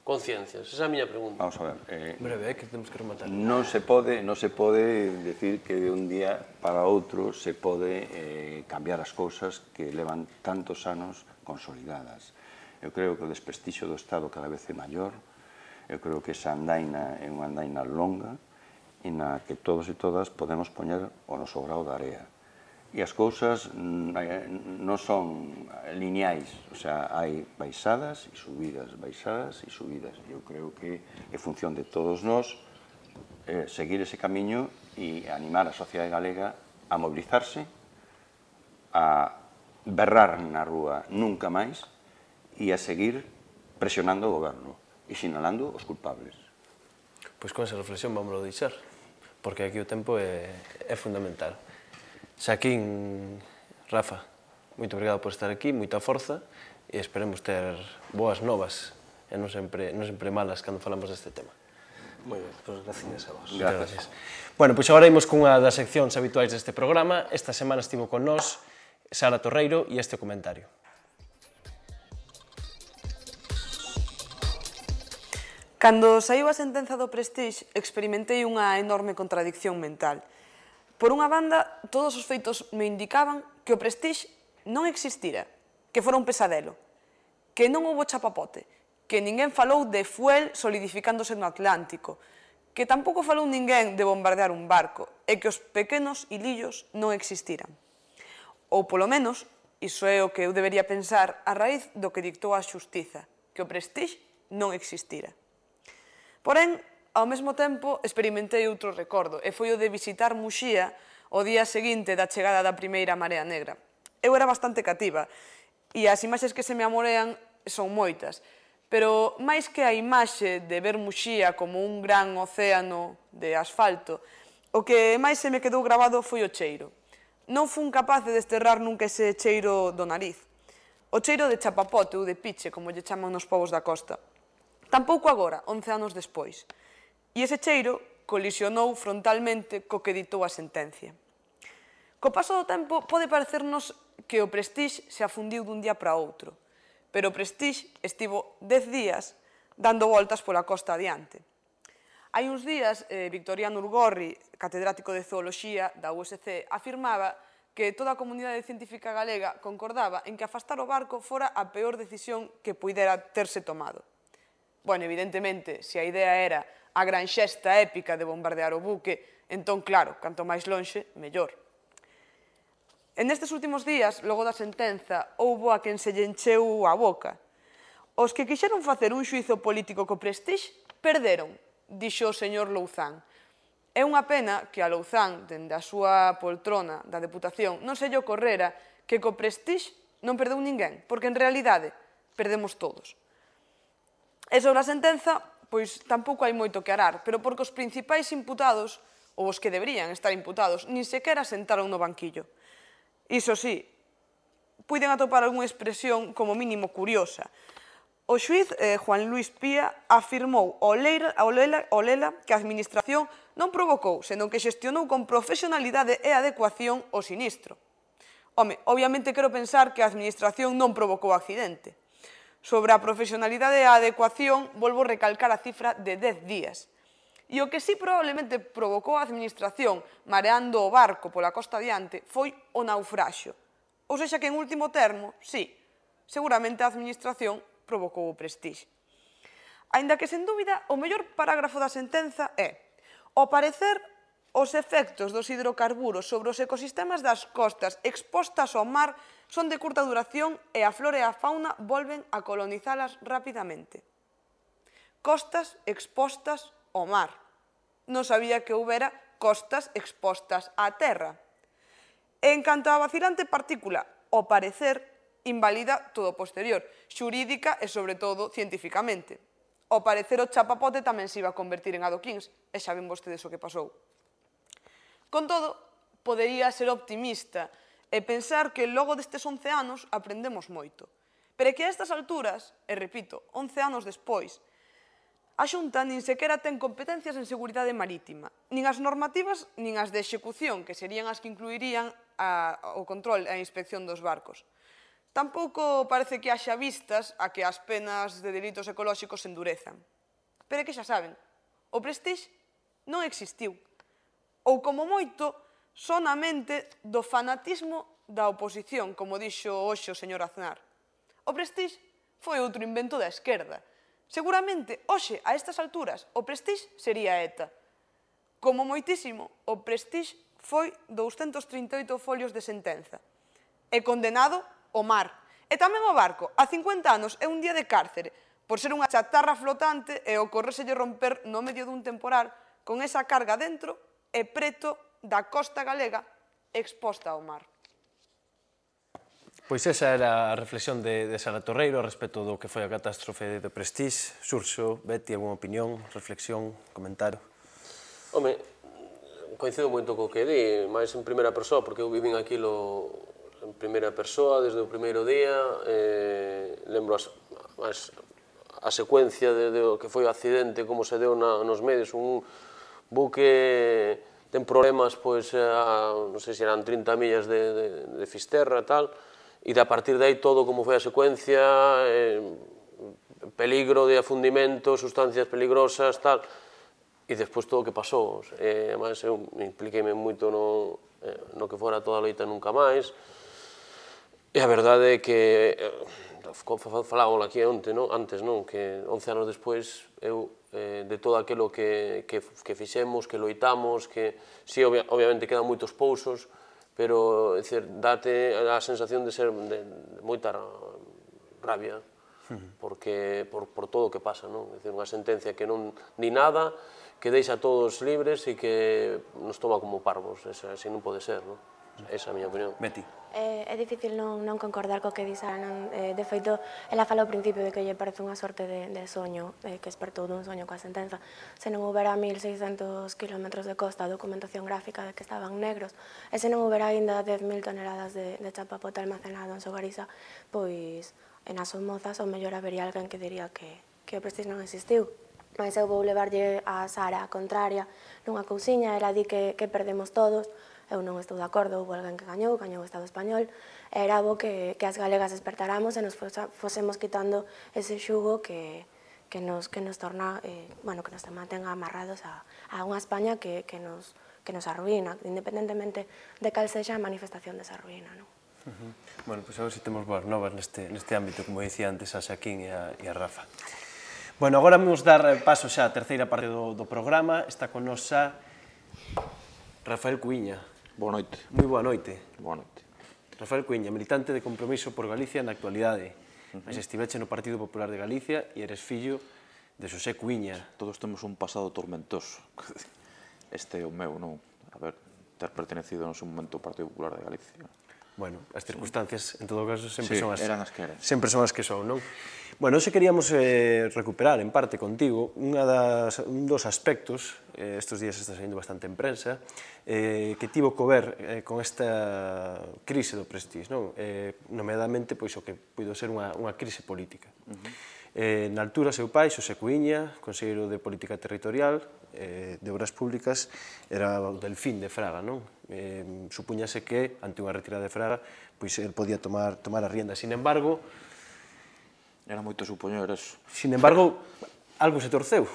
D: conciencias? Esa é a miña pregunta.
F: Vamos a ver.
A: Breve, que temos que rematar.
F: Non se pode decir que de un día para outro se pode cambiar as cousas que levan tantos anos consolidadas. Eu creo que o desprestixio do Estado cada vez é maior. Eu creo que esa andaina é unha andaina longa e na que todos e todas podemos poñer o noso grao de area. E as cousas non son lineais, o sea, hai baixadas e subidas, baixadas e subidas. Eu creo que é función de todos nós seguir ese camiño e animar a sociedade galega a mobilizarse, a berrar na rúa nunca máis e a seguir presionando o goberno e sinalando os culpables.
A: Pois con esa reflexión vamos a deixar, porque aquí o tempo é fundamental. Xaquín, Rafa, moito obrigado por estar aquí, moita forza, e esperemos ter boas novas e non sempre malas cando falamos deste tema.
E: Moi ben, pois gracias a vos.
A: Gracias. Bueno, pois agora imos cunha das seccións habituais deste programa. Esta semana estivo con nós Sara Torreiro e este comentario.
H: Cando saiu a sentenza do Prestige, experimentei unha enorme contradicción mental. Por unha banda, todos os feitos me indicaban que o Prestige non existira, que fora un pesadelo, que non houbo chapapote, que ninguén falou de fuel solidificándose no Atlántico, que tampouco falou ninguén de bombardear un barco e que os pequenos ilillos non existiran. Ou, polo menos, iso é o que eu debería pensar a raíz do que dictou a xustiza, que o Prestige non existira. Porén, ao mesmo tempo, experimentei outro recordo, e foi o de visitar Muxía o día seguinte da chegada da primeira Marea Negra. Eu era bastante cativa, e as imaxes que se me amorean son moitas, pero máis que a imaxe de ver Muxía como un gran océano de asfalto, o que máis se me quedou grabado foi o cheiro. Non fun capaz de desterrar nunca ese cheiro do nariz. O cheiro de chapapote ou de piche, como lle chaman nos povos da costa. Tampouco agora, 11 anos despois. E ese cheiro colisionou frontalmente co que ditou a sentencia. Co paso do tempo pode parecernos que o Prestige se afundiu dun día para outro, pero o Prestige estivo 10 días dando voltas pola costa adiante. Hai uns días, Victoriano Urgorri, catedrático de Zooloxía da USC, afirmaba que toda a comunidade científica galega concordaba en que afastar o barco fora a peor decisión que puidera terse tomado. Bueno, evidentemente, se a idea era a gran xesta épica de bombardear o buque, entón, claro, canto máis lonxe, mellor. En estes últimos días, logo da sentenza, houbo a quen se lle encheu a boca. Os que quixeron facer un xuizo político co Prestige perderon, dixo o señor Louzán. É unha pena que a Louzán, dende a súa poltrona da Deputación, non se lle ocorrera que co Prestige non perdeu ninguén, porque en realidade perdemos todos. E sobre a sentenza, pois tampouco hai moito que arar, pero porque os principais imputados, ou os que deberían estar imputados, nin sequera sentaron no banquillo. Iso sí, puiden atopar algunha expresión como mínimo curiosa. O xuiz Juan Luis Pía afirmou ao lela que a Administración non provocou, senón que xestionou con profesionalidade e adecuación o sinistro. Home, obviamente quero pensar que a Administración non provocou o accidente. Sobre a profesionalidade e a adecuación, volvo a recalcar a cifra de 10 días. E o que sí probablemente provocou a Administración mareando o barco pola costa adiante foi o naufraxio. Ou sexa que, en último termo, sí, seguramente a Administración provocou o Prestige. Aínda que, sen dúbida, o mellor parágrafo da sentenza é: ao parecer, os efectos dos hidrocarburos sobre os ecosistemas das costas expostas ao mar son de curta duración e a flora e a fauna volven a colonizalas rapidamente. Costas expostas ao mar. Non sabía que houbera costas expostas á terra. E en canto á vacilante partícula, ao parecer, invalida todo o posterior, xurídica e, sobre todo, cientificamente. Ao parecer, o chapapote tamén se iba a convertir en adoquíns, e xa ven vostedes o que pasou. Con todo, podería ser optimista e pensar que logo destes 11 anos aprendemos moito. Pero é que a estas alturas, e repito, 11 anos despois, a Xunta nin sequera ten competencias en seguridade marítima, nin as normativas nin as de execución, que serían as que incluirían o control e a inspección dos barcos. Tampouco parece que haxa vistas a que as penas de delitos ecolóxicos se endurezan. Pero é que xa saben, o Prestige non existiu. Ou, como moito, son a mente do fanatismo da oposición, como dixo hoxe o señor Aznar. O Prestige foi outro invento da esquerda. Seguramente, hoxe, a estas alturas, o Prestige sería ETA. Como moitísimo, o Prestige foi 238 folios de sentenza. E condenado o mar. E tamén o barco, a 50 anos e un día de cárcere, por ser unha chatarra flotante e ocorrérselle romper no medio dun temporal con esa carga dentro e preto da costa galega exposta ao mar.
A: Pois esa era a reflexión de Sara Torreiro respecto do que foi a catástrofe de Prestige. Xurxo, Betty, alguna opinión, reflexión, comentario?
D: Home, coincido moito co que di, máis en primeira persoa, porque eu vivín aquilo en primeira persoa desde o primeiro día, lembro a secuencia do que foi o accidente, como se deu nos medios, un buque ten problemas, pois, non sei se eran 30 millas de Fisterra e tal, e a partir de aí todo como foi a secuencia, peligro de afundimento, sustancias peligrosas, tal, e despois todo o que pasou. Además, eu impliqueime moito no que fora toda a loita nunca máis, e a verdade é que, falábamos aquí antes, que 11 anos despois, eu, de todo aquilo que fixemos, que loitamos, que, sí, obviamente quedan moitos pousos, pero, é dicir, date a sensación de ser de moita rabia. porque por todo o que pasa, non? É dicir, unha sentencia que non di nada, que deixa a todos libres e que nos toma como parvos, así non pode ser, non? Esa é a miña opinión.
A: Beti.
G: É difícil non concordar co que di Sara. De feito, ela fala ao principio de que lle parece unha sorte de soño, que espertou dun soño coa sentenza. Se non houbera 1.600 kilómetros de costa, a documentación gráfica de que estaban negros, e se non houbera ainda 10.000 toneladas de chapapote almacenado en Sogariza, pois nas Somozas ou mellor habería alguén que diría que o Prestige non existiu. Mas eu vou levarlle a Sara a contraria nunha cousiña, ela di que perdemos todos. Eu non estou de acordo, houve alguén que gañou o Estado español, era bo que as galegas despertáramos e nos fosemos quitando ese xugo que nos torna, bueno, que nos mantenga amarrados a unha España que nos arruína, independentemente de cal sexa a manifestación desa ruína, non?
A: Bueno, pois a ver se temos boas novas neste ámbito, como dicía antes a Xaquín e a Rafa. Bueno, agora vamos dar paso xa á terceira parte do programa. Está con nos xa Rafael Cuíña.
I: Boa noite.
A: Moi boa noite.
I: Boa noite.
A: Rafael Cuíña, militante de Compromiso por Galicia na actualidade. Mas estiveche no Partido Popular de Galicia e eres fillo de Xosé Cuíña.
I: Todos temos un pasado tormentoso. Este é o meu, non? A ver, ter pertenecido no seu momento ao Partido Popular de Galicia.
A: Bueno, as circunstancias, en todo caso, sempre son as que son, non? Bueno, hoxe queríamos recuperar, en parte, contigo, un dos aspectos, estes días está saindo bastante en prensa, que tivo que ver con esta crise do Prestige, non? Nomeadamente, pois, o que puido ser unha crise política. Na altura, seu pai, Xosé Cuíña, conselleiro de Política Territorial, de Obras Públicas, era o Delfín de Fraga, non? Supúñase que, ante unha retirada de Fraga, pois el podía tomar a rienda. Sin embargo,
I: era moito supoñer eso.
A: Sin embargo, algo se torceu.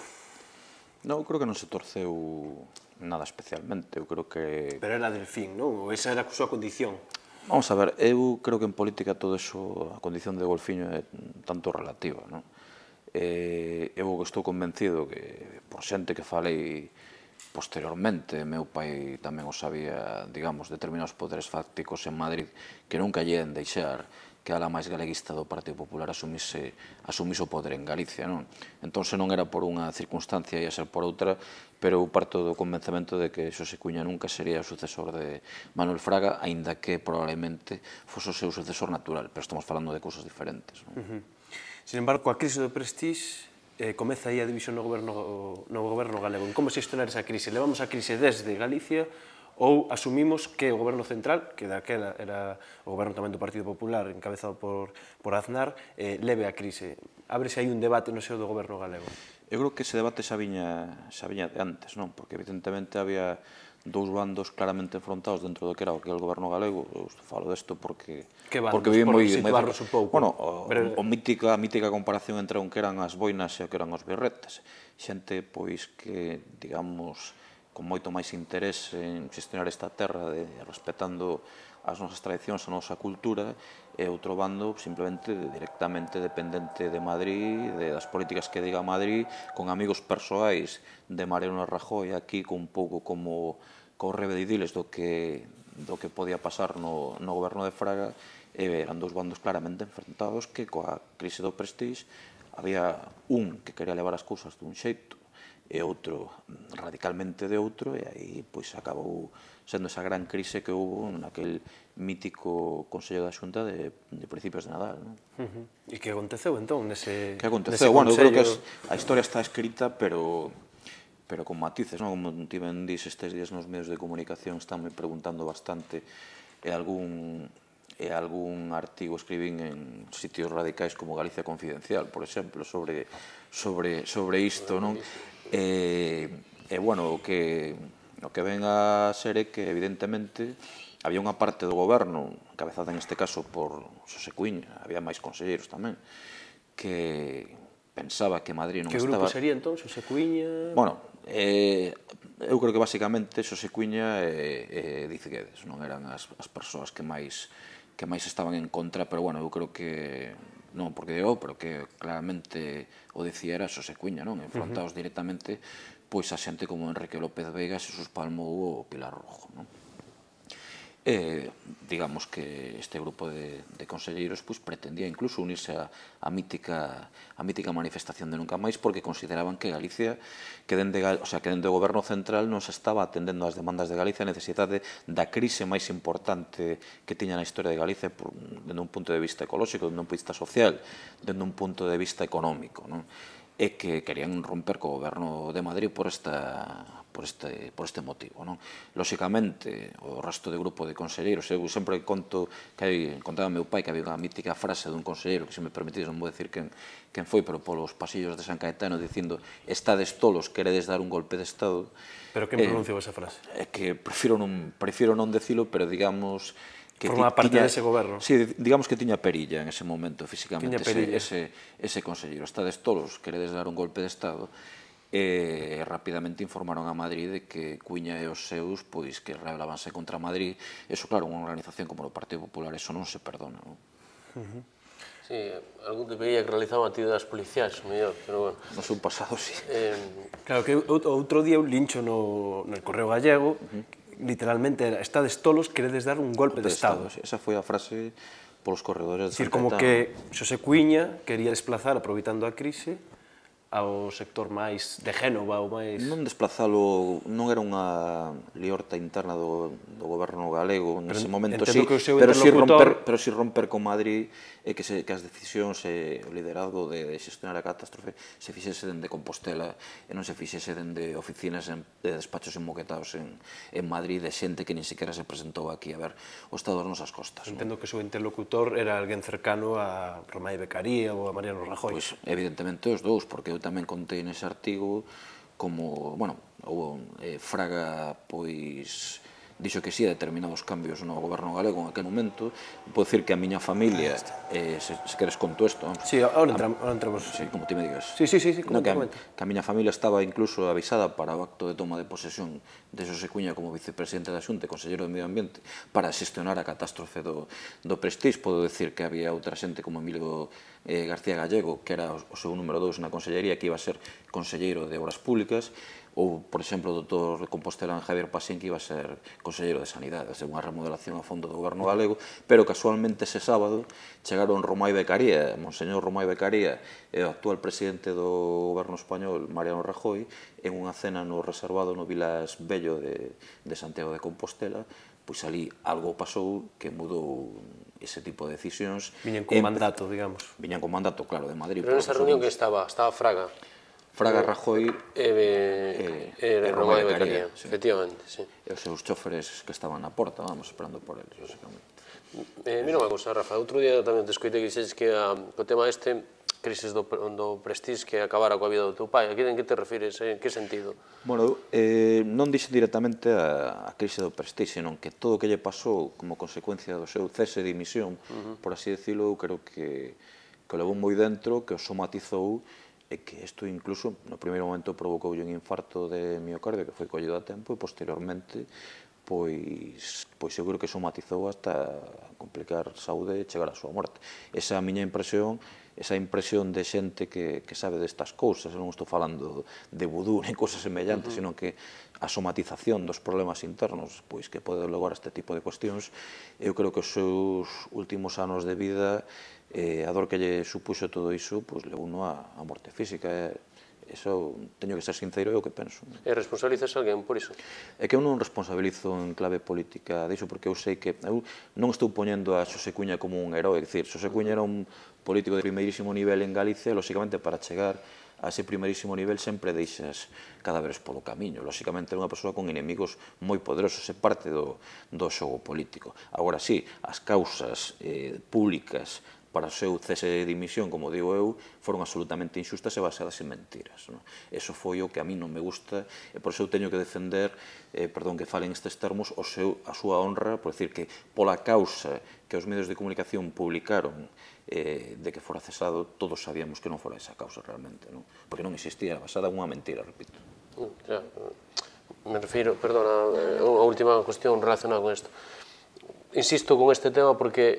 I: Non, eu creo que non se torceu nada especialmente, eu creo que...
A: Pero era Delfín, non? Ou esa era a súa condición?
I: Vamos a ver, eu creo que en política todo eso, a condición de golfiño é tanto relativa, non? Eu estou convencido que por xente que falei posteriormente, meu pai tamén o sabía, digamos, determinados poderes fácticos en Madrid que nunca lle deixar que a ala máis galeguista do Partido Popular asumise o poder en Galicia, non? Entón, se non era por unha circunstancia ia ser por outra, pero eu parto do convencemento de que Xosé Cuíña nunca sería o sucesor de Manuel Fraga, aínda que probablemente fose o seu sucesor natural, pero estamos falando de cousas diferentes, non?
A: Sin embargo, coa crise do Prestige, comeza aí a división no goberno galego. Como se gestionar esa crise? Levamos a crise desde Galicia ou asumimos que o goberno central, que daquela era o goberno tamén do Partido Popular, encabezado por Aznar, leve a crise? Ábrese aí un debate no seo do goberno galego?
I: Eu creo que ese debate xa viña de antes, non? Porque evidentemente había dous bandos claramente enfrontados dentro do que era aquel goberno galego. Eu falo desto porque...
A: Que bandos? Por situarnos un pouco.
I: Bueno, a mítica comparación entre o que eran as boinas e o que eran os birretes. Xente, pois, que, digamos, con moito máis interés en xestionar esta terra, respetando as nosas tradicións, a nosa cultura, e outro bando simplemente directamente dependente de Madrid, das políticas que diga Madrid, con amigos persoais de Mariano Rajoy aquí, con un pouco como correve de idiles do que podía pasar no goberno de Fraga, eran dous bandos claramente enfrentados que coa crise do Prestige había un que quería levar as cousas dun xeito e outro radicalmente de outro, e aí pois acabou sendo esa gran crise que houve naquel mítico Consello da Xunta de principios de Nadal.
A: E que aconteceu entón nese...
I: Que aconteceu? Bueno, eu creo que a historia está escrita, pero con matices, como tiven dís estes días nos medios de comunicación, están me preguntando bastante e algún artigo escribín en sitios radicais como Galicia Confidencial, por exemplo, sobre isto, non? E, bueno, o que ven a ser é que, evidentemente, había unha parte do goberno, encabezada en este caso por Xosé Cuíña, había máis conselleiros tamén, que pensaba que Madrid non estaba...
A: Que grupo sería, entón, Xosé Cuíña?
I: Bueno, eu creo que, basicamente, Xosé Cuíña e Diz Guedes non eran as persoas que máis estaban en contra, pero, bueno, eu creo que... non porque digo, pero que claramente o dicía era Xosé Cuíña, non? Enfrontados directamente pois a xente como Enrique López Veiga, Xesús Palmou ou Pilar Rojo, non? digamos que este grupo de conselleiros pretendía incluso unirse á mítica manifestación de Nunca Máis, porque consideraban que Galicia, que dende o goberno central non se estaba atendendo ás demandas de Galicia, a necesidade da crise máis importante que tiña na historia de Galicia dende un punto de vista ecolóxico, dende un punto de vista social, dende un punto de vista económico, e que querían romper co goberno de Madrid por este motivo. Lóxicamente, o resto de grupo de conselleiros, eu sempre contaba meu pai que había unha mítica frase dun conselleiro, que se me permitís, non vou decir quen foi, pero polos pasillos de San Caetano, dicindo: estades tolos, queredes dar un golpe de Estado.
A: Pero quen pronunciou esa frase?
I: É que prefiro non decilo, pero digamos...
A: Forma parte dese goberno.
I: Sí, digamos que tiña perilla en ese momento, físicamente, ese conselleiro. Estades tolos, queredes dar un golpe de Estado. E rapidamente informaron a Madrid de que Cuña e os seus que rebelábanse contra Madrid. Eso, claro, unha organización como o Partido Popular, eso non se perdona.
D: Sí, algún debería que realizar actividades policiais, mellor, pero bueno.
I: No seu pasado, sí.
A: Claro, que outro día un lincho no Correo Gallego, literalmente era: estades tolos, queredes dar un golpe de Estado.
I: Esa foi a frase polos corredores de
A: San
I: San
A: Caetano. Como
I: Caetano.
A: que Xosé Cuíña quería desplazar, aproveitando a crise, ao sector máis de Génova ou máis...
I: Non desplazalo, non era unha liorta interna do goberno galego nese momento, sí, pero si romper con Madrid e que as decisións e o liderazgo de xestionar a catástrofe se fixese dende Compostela e non se fixese dende oficinas de despachos enmoquetados en Madrid de xente que nin sequera se presentou aquí a ver o estado das nosas costas.
A: Entendo que o seu interlocutor era alguén cercano a Romai Beccaría ou a Mariano Rajoy.
I: Pois, evidentemente, os dous, porque eu tamén contei nese artigo como, bueno, Fraga, pois, dixo que sí a determinados cambios no goberno galego en aquel momento. Podo dicir que a miña familia, se queres conto isto...
A: Sí, ahora entramos.
I: Sí, como ti me digas.
A: Sí, comenta.
I: Que a miña familia estaba incluso avisada para o acto de toma de posesión de Xosé Cuña como vicepresidente da Xunta e conselleiro de Medio Ambiente para xestionar a catástrofe do Prestige. Podo dicir que había outra xente como Emilio García Gallego, que era o seu número 2 na consellería, que iba a ser conselleiro de Obras Públicas, ou, por exemplo, o doutor de Compostela Javier Pasín, que iba a ser conselleiro de Sanidade, unha remodelación a fondo do goberno galego, pero casualmente ese sábado chegaron Romai Beccaría, Monseñor Romai Beccaría, e o actual presidente do goberno español, Mariano Rajoy, en unha cena no reservado no Vilas Bello de Santiago de Compostela. Pois ali algo pasou que mudou ese tipo de decisións.
A: Viñan con mandato, digamos.
I: Viñan con mandato, claro, de Madrid.
D: Pero nesa reunión que estaba Fraga,
I: Rajoy
D: e Romai Beccaría, efectivamente, sí.
I: E os seus choferes que estaban na porta, vamos, esperando por eles, básicamente.
D: Mira unha cousa, Rafa, outro día tamén te escoitei que dixeches que o tema crisis do Prestige que acabara coa vida do teu pai. En que te refires? En que sentido?
I: Bueno, non dixen directamente a crise do Prestige, senón que todo o que lle pasou como consecuencia do seu cese de dimisión, por así decirlo, eu creo que o levou moi dentro, que o somatizou, e que isto incluso no primeiro momento provocou un infarto de miocardio que foi collido a tempo e posteriormente pois seguro que somatizou hasta complicar saúde e chegar á súa morte. Esa é a miña impresión, esa impresión de xente que sabe destas cousas. Non estou falando de vudú nem cousas semellantes, senón que a somatización dos problemas internos pois que pode levar a este tipo de cuestións. Eu creo que os seus últimos anos de vida, a dor que lle supuxo todo iso, levou a morte física. Eso, teño que ser sincero, é o que penso.
D: E responsabilizas alguén por iso?
I: É que eu non responsabilizo en clave política diso, porque eu sei que eu non estou poñendo a Xosé Cuña como un herói. É dicir, Xosé Cuña era un político de primeirísimo nivel en Galicia, e, lóxicamente, para chegar a ese primeirísimo nivel sempre deixas cadáveres polo camiño. Lóxicamente, era unha persoa con inimigos moi poderosos, é parte do xogo político. Agora, sí, as causas públicas para o seu cese de dimisión, como digo eu, foron absolutamente injustas e baseadas en mentiras. Eso foi o que a mí non me gusta, e por eso eu teño que defender, perdón que falen estes termos, a súa honra, por decir que pola causa que os medios de comunicación publicaron de que fora cesado, todos sabíamos que non fora esa causa realmente, porque non existía, basada en unha mentira, repito.
D: Me refiro, perdona, unha última cuestión relacionada con isto. Insisto con este tema porque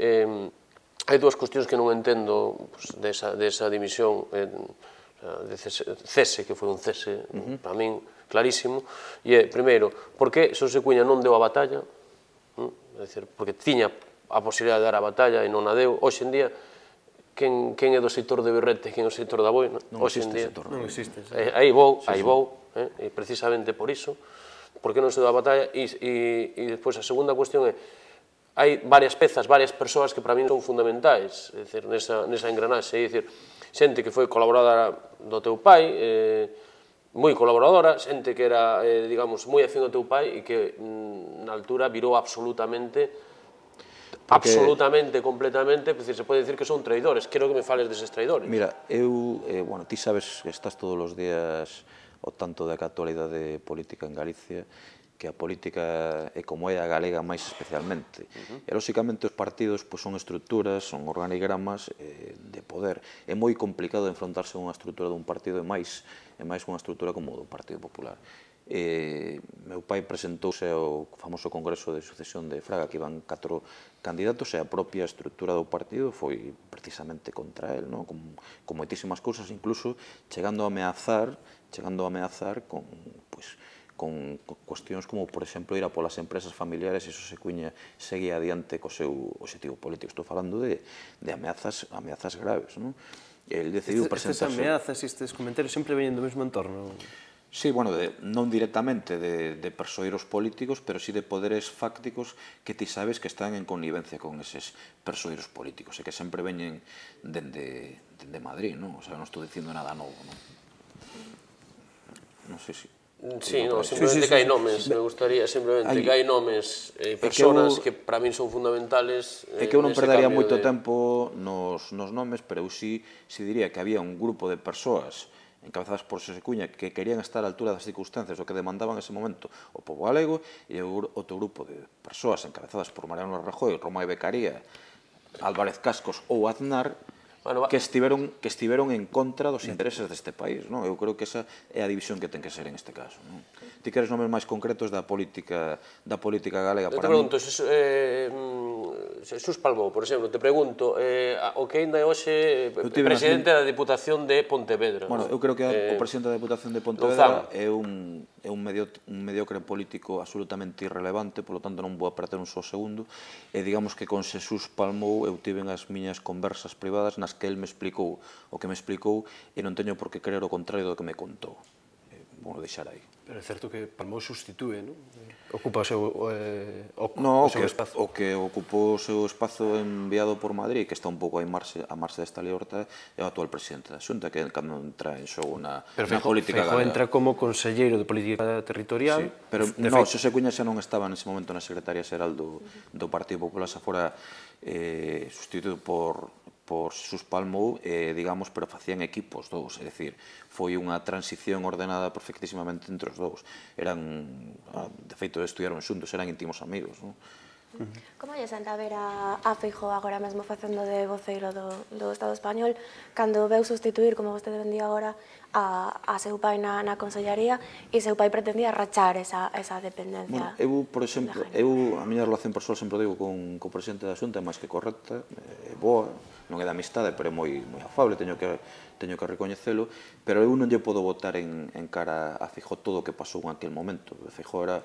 D: hai dúas cuestións que non entendo desa dimisión, de cese, que foi un cese, para min, clarísimo, e é, primeiro, por que Xosé Cuña non deu a batalla? É porque tiña a posibilidad de dar a batalla e non a deu. Hoxe en día, quen é do sector de Birrete, quen é do sector da Boi?
I: Non existe sector.
A: Non existe.
D: Aí vou, e precisamente por iso, porque non se dá a batalla, e despois a segunda cuestión é, hai varias pezas, varias persoas que para min son fundamentais, é dicir, nesa engranaxe, é dicir, xente que foi colaboradora do teu pai, moi colaboradora, xente que era, digamos, moi afín ao teu pai e que na altura virou absolutamente, completamente, se pode dicir que son traidores. Quero que me fales deses traidores.
I: Mira, ti sabes que estás todos os días ao tanto da actualidade política en Galicia, que a política é como é a galega máis especialmente. E, lóxicamente, os partidos son estruturas, son organigramas de poder. É moi complicado enfrontarse a unha estrutura dun partido e máis unha estrutura como do Partido Popular. Meu pai presentouse ao famoso Congreso de Sucesión de Fraga, que iban 4 candidatos, e a propia estrutura do partido foi precisamente contra el, con moitísimas cousas, incluso chegando a ameazar con cuestións como, por exemplo, ir a polas empresas familiares, e iso seguía adiante co seu objetivo político. Estou falando de ameazas graves. El decidiu presentarse...
A: Estas ameazas e estes comentarios sempre veñen do mesmo entorno?
I: Sí, bueno, non directamente de persoeiros políticos, pero sí de poderes fácticos que ti sabes que están en connivencia con eses persoeiros políticos, e que sempre veñen dende Madrid, non? O sea, non estou dicindo nada novo, non? Non sei se...
D: Sí, simplemente que hai nomes, me gustaría simplemente que hai nomes e personas que para min son fundamentales.
I: É que eu non perdería moito tempo nos nomes, pero eu sí diría que había un grupo de persoas encabezadas por Xosé Cuña que querían estar á altura das circunstancias o que demandaban ese momento o pobo galego, e outro grupo de persoas encabezadas por Mariano Rajoy, Romai Becaría, Álvarez Cascos ou Aznar, que estiveron en contra dos intereses deste país. Eu creo que esa é a división que ten que ser en este caso. Ti queres nomes máis concretos da política galega?
D: Te pregunto, Xesús Palmou, por exemplo, te pregunto, o que ainda é hoxe presidente da Diputación de Pontevedra.
I: Bueno, eu creo que o presidente da Diputación de Pontevedra é un mediocre político absolutamente irrelevante, polo tanto non vou a perder un só segundo, e digamos que con Xesús Palmou eu tiven as miñas conversas privadas nas que el me explicou o que me explicou, e non teño por que creer o contrario do que me contou. Vou deixar aí.
A: Pero é certo que Palmou substitúe, non? Ocupa o seu espazo.
I: O que ocupou o seu espazo enviado por Madrid, que está un pouco a marxe desta lei Horta, é o actual presidente da Xunta, que cando entra en xogo na política galega.
A: Pero Feijóo entra como conselleiro de política territorial.
I: Sí, pero non, Xosé Cuña xa non estaba nese momento na Secretaría Xeral do Partido Popular, xa fora sustituído por Xesús Palmou, digamos, pero facían equipos dous, é dicir, foi unha transición ordenada perfectísimamente entre os dous. De feito, estudiaron xuntos, eran íntimos amigos, non?
G: Como lle senta ver a Feijóo agora mesmo facendo de voceiro do Estado español, cando veu sustituir, como vostede vendía agora, a seu pai na consellería, e seu pai pretendía rachar esa dependencia?
I: Eu, por exemplo, a miña relación persoal, sempre digo, con o presidente da Xunta é máis que correcta, é boa, non é de amistade, pero é moi afable, teño que recoñecelo, pero eu non lle podo botar en cara a Feijóo todo o que pasou en aquel momento. Feijóo era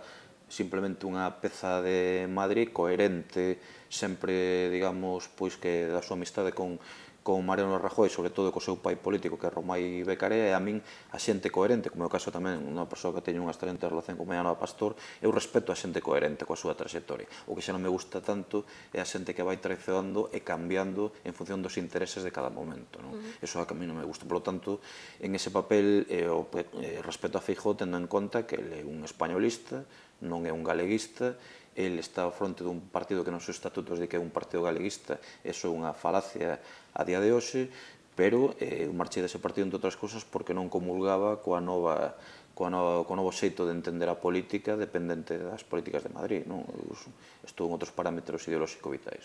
I: simplemente unha peza de Madrid coherente, sempre, digamos, pois que da súa amistade con Mariano Rajoy, sobre todo co seu pai político, que é Romai Becarea, e a min a xente coherente, como é o caso tamén unha persoa que teño unha excelente relación con Mariano Pastor, eu respeto a xente coherente coa súa trayectoria. O que xa non me gusta tanto é a xente que vai traicionando e cambiando en función dos intereses de cada momento. Eso a mí non me gusta. Por lo tanto, en ese papel, respeto a Feijóo, tendo en conta que ele é un españolista, non é un galeguista, el está ao fronte dun partido que nos seus estatutos de que é un partido galeguista, eso é unha falacia a día de hoxe, pero eu marchei dese partido, entre outras cousas, porque non comulgaba co novo xeito de entender a política dependente das políticas de Madrid. Estou en outros parámetros ideolóxicos vitais.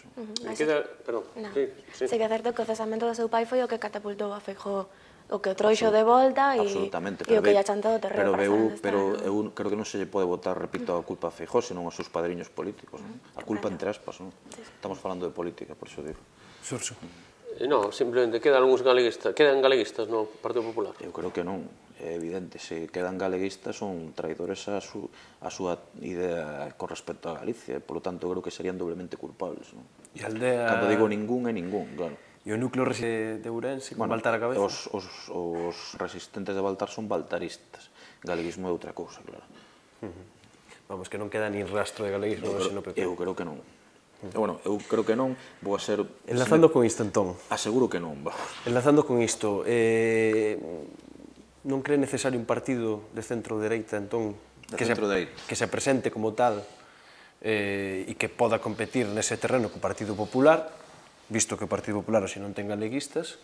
G: Sí que é certo que o cesamento do seu pai foi o que catapultou a Feijóo, o que o trouxo de volta e o que lle ha chantado o terreo para saber
I: pero eu creo que non se lle pode botar, repito, a culpa a Feijóo, senón aos seus padriños políticos. A culpa entre aspas. Estamos falando de política, por iso digo.
A: Xurxo.
D: Non, simplemente quedan algúns galeguistas no Partido Popular.
I: Eu creo que non. é evidente, se quedan galeguistas son traidores a súa idea con respecto a Galicia, polo tanto creo que serían doblemente culpables. Cando digo ningún, é ningún, claro.
A: E o núcleo de Ourense, con Baltar a cabeza?
I: Os resistentes de Baltar son baltaristas, galeguismo é outra cousa, claro.
A: Vamos, que non queda nin rastro de galeguismo no PP.
I: Eu creo que non. Bueno, eu creo que non, vou a ser...
A: Enlazando con isto, entón.
I: Aseguro que non, vamos.
A: Enlazando con isto, non cree necesario un partido de centro-dereita, entón, que se presente como tal e que poda competir nese terreno co Partido Popular, visto que o Partido Popular hoxe non ten galeguistas,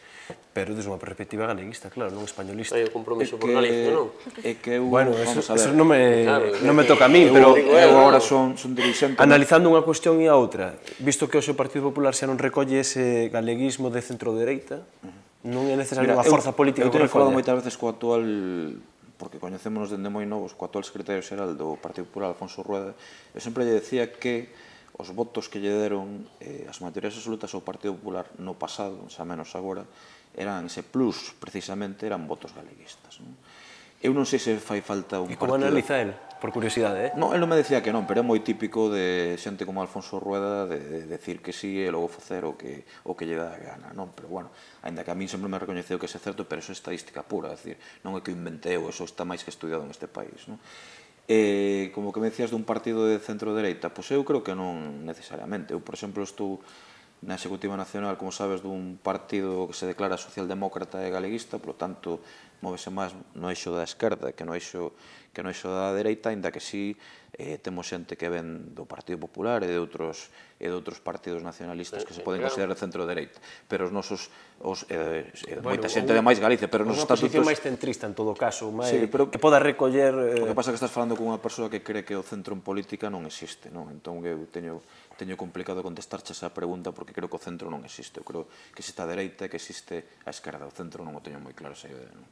A: pero desde unha perspectiva galeguista, claro, non españolista.
D: Hai o compromiso por Galicia, non?
I: É que eu...
A: Bueno, eso non me toca a mí, pero...
I: Eu agora son dirixente...
A: Analizando unha cuestión e a outra, visto que hoxe o Partido Popular xa non recolle ese galeguismo de centro-dereita, non é necesario unha forza política que
I: recolle. Eu teño falado
A: recolle.
I: moitas veces co actual, porque coñecémonos dende moi novos, co actual secretario xeral do Partido Popular, Alfonso Rueda, eu sempre lle decía que os votos que lle deron as maiorías absolutas ao Partido Popular no pasado, xa menos agora, eran ese plus, precisamente, eran votos galeguistas. Eu non sei se fai falta un partido...
A: E como analiza el? Por curiosidade,
I: Non, el non me decía que non, pero é moi típico de xente como Alfonso Rueda de decir que sí e logo facer o que lle dá a gana, non? Pero, bueno, ainda que a mí sempre me recoñeceu que é certo, pero iso é estadística pura, é dicir, non é que inventei, eso está máis que estudiado neste país, non? Como que me decías dun partido de centro-dereita, pois eu creo que non necesariamente. Eu, por exemplo, estou na Executiva Nacional, como sabes, dun partido que se declara socialdemócrata e galeguista, polo tanto, móvese máis no eixo da esquerda que no eixo da dereita, ainda que sí temos xente que ven do Partido Popular e de outros partidos nacionalistas que se poden considerar centro-dereita, pero os nosos moita xente de máis Galicia, pero os estatutos...
A: Unha posición máis centrista, en todo caso, que poda recoller...
I: O que pasa é que estás falando con unha persoa que cree que o centro en política non existe, non? Entón eu teño complicado contestarche esa pregunta porque creo que o centro non existe. Eu creo que existe a dereita e que existe a esquerda. O centro non o teño moi claro esa idea, non?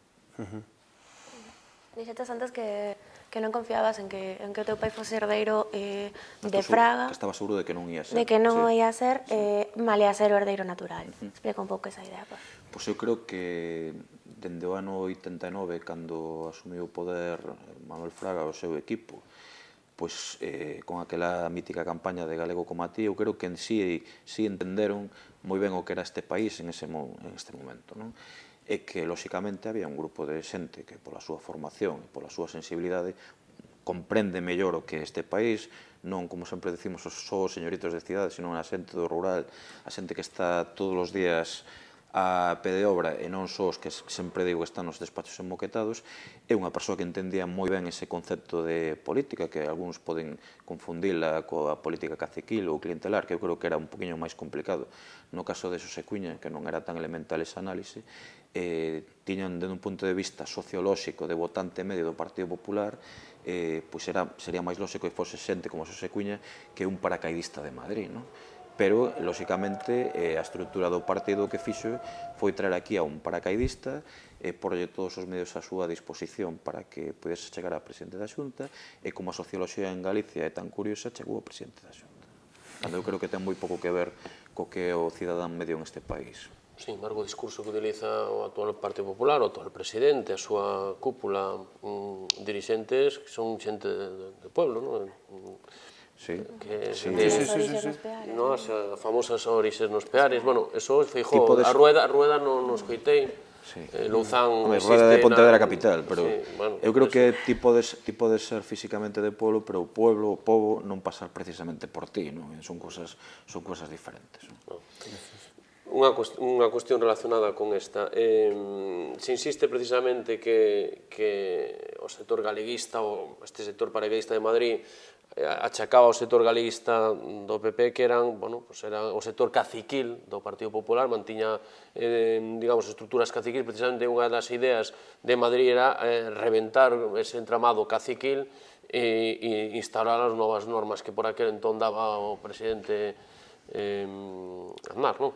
G: Dixetes antes que non confiabas en que o teu pai fose herdeiro de Fraga.
I: Que estaba seguro de que non ia ser.
G: De que non o ia ser, malia ser o herdeiro natural. Explica un pouco esa idea.
I: Pois eu creo que dende o ano 89, cando asumiu o poder Manuel Fraga o seu equipo, pois con aquela mítica campaña de Galego como a ti, eu creo que en sí entenderon moi ben o que era este país en este momento, non? E que, lóxicamente, había un grupo de xente que, pola súa formación e pola súa sensibilidade, comprende mellor o que é este país, non, como sempre decimos, só os señoritos de cidade, sino a xente do rural, a xente que está todos os días a pé de obra, e non só os que sempre digo que están nos despachos enmoquetados, é unha persoa que entendía moi ben ese concepto de política, que algúns poden confundila coa política caciquil ou clientelar, que eu creo que era un poquinho máis complicado. No caso de Xosé Cuíña, que non era tan elemental esa análise, tiñan, desde un punto de vista sociolóxico de votante medio do Partido Popular, pois sería máis lóxico que fose xente como Xosé Cuíña que un paracaidista de Madrid, non? Pero, lóxicamente, a estrutura do partido que fixo foi traer aquí a un paracaidista e porlle todos os medios a súa disposición para que pudese chegar a presidente da Xunta, e como a socioloxía en Galicia é tan curiosa, chegou a presidente da Xunta. Eu creo que ten moi pouco que ver co que é o cidadán medio en este país.
D: Sí, embargo, o discurso que utiliza o actual Partido Popular, o actual presidente, a súa cúpula dirixentes, que son xente de pueblo, non?
I: Sí,
D: sí. As famosas orixes nos peares, bueno, eso Feijóo, a Rueda non nos coitei, Louzán existe...
I: Rueda de Pontevedra capital, pero eu creo que ti podes ser físicamente de pueblo, pero o pobo non pasar precisamente por ti, non? Son cosas diferentes.
D: Unha cuestión relacionada con esta. Se insiste precisamente que o sector galeguista, ou este sector paracaidista de Madrid, achacaba ao sector galeguista do PP que eran o sector caciquil do Partido Popular, mantiña, digamos, estruturas caciquil. Precisamente unha das ideas de Madrid era reventar ese entramado caciquil e instaurar as novas normas que por aquel entón daba o presidente Aznar, non?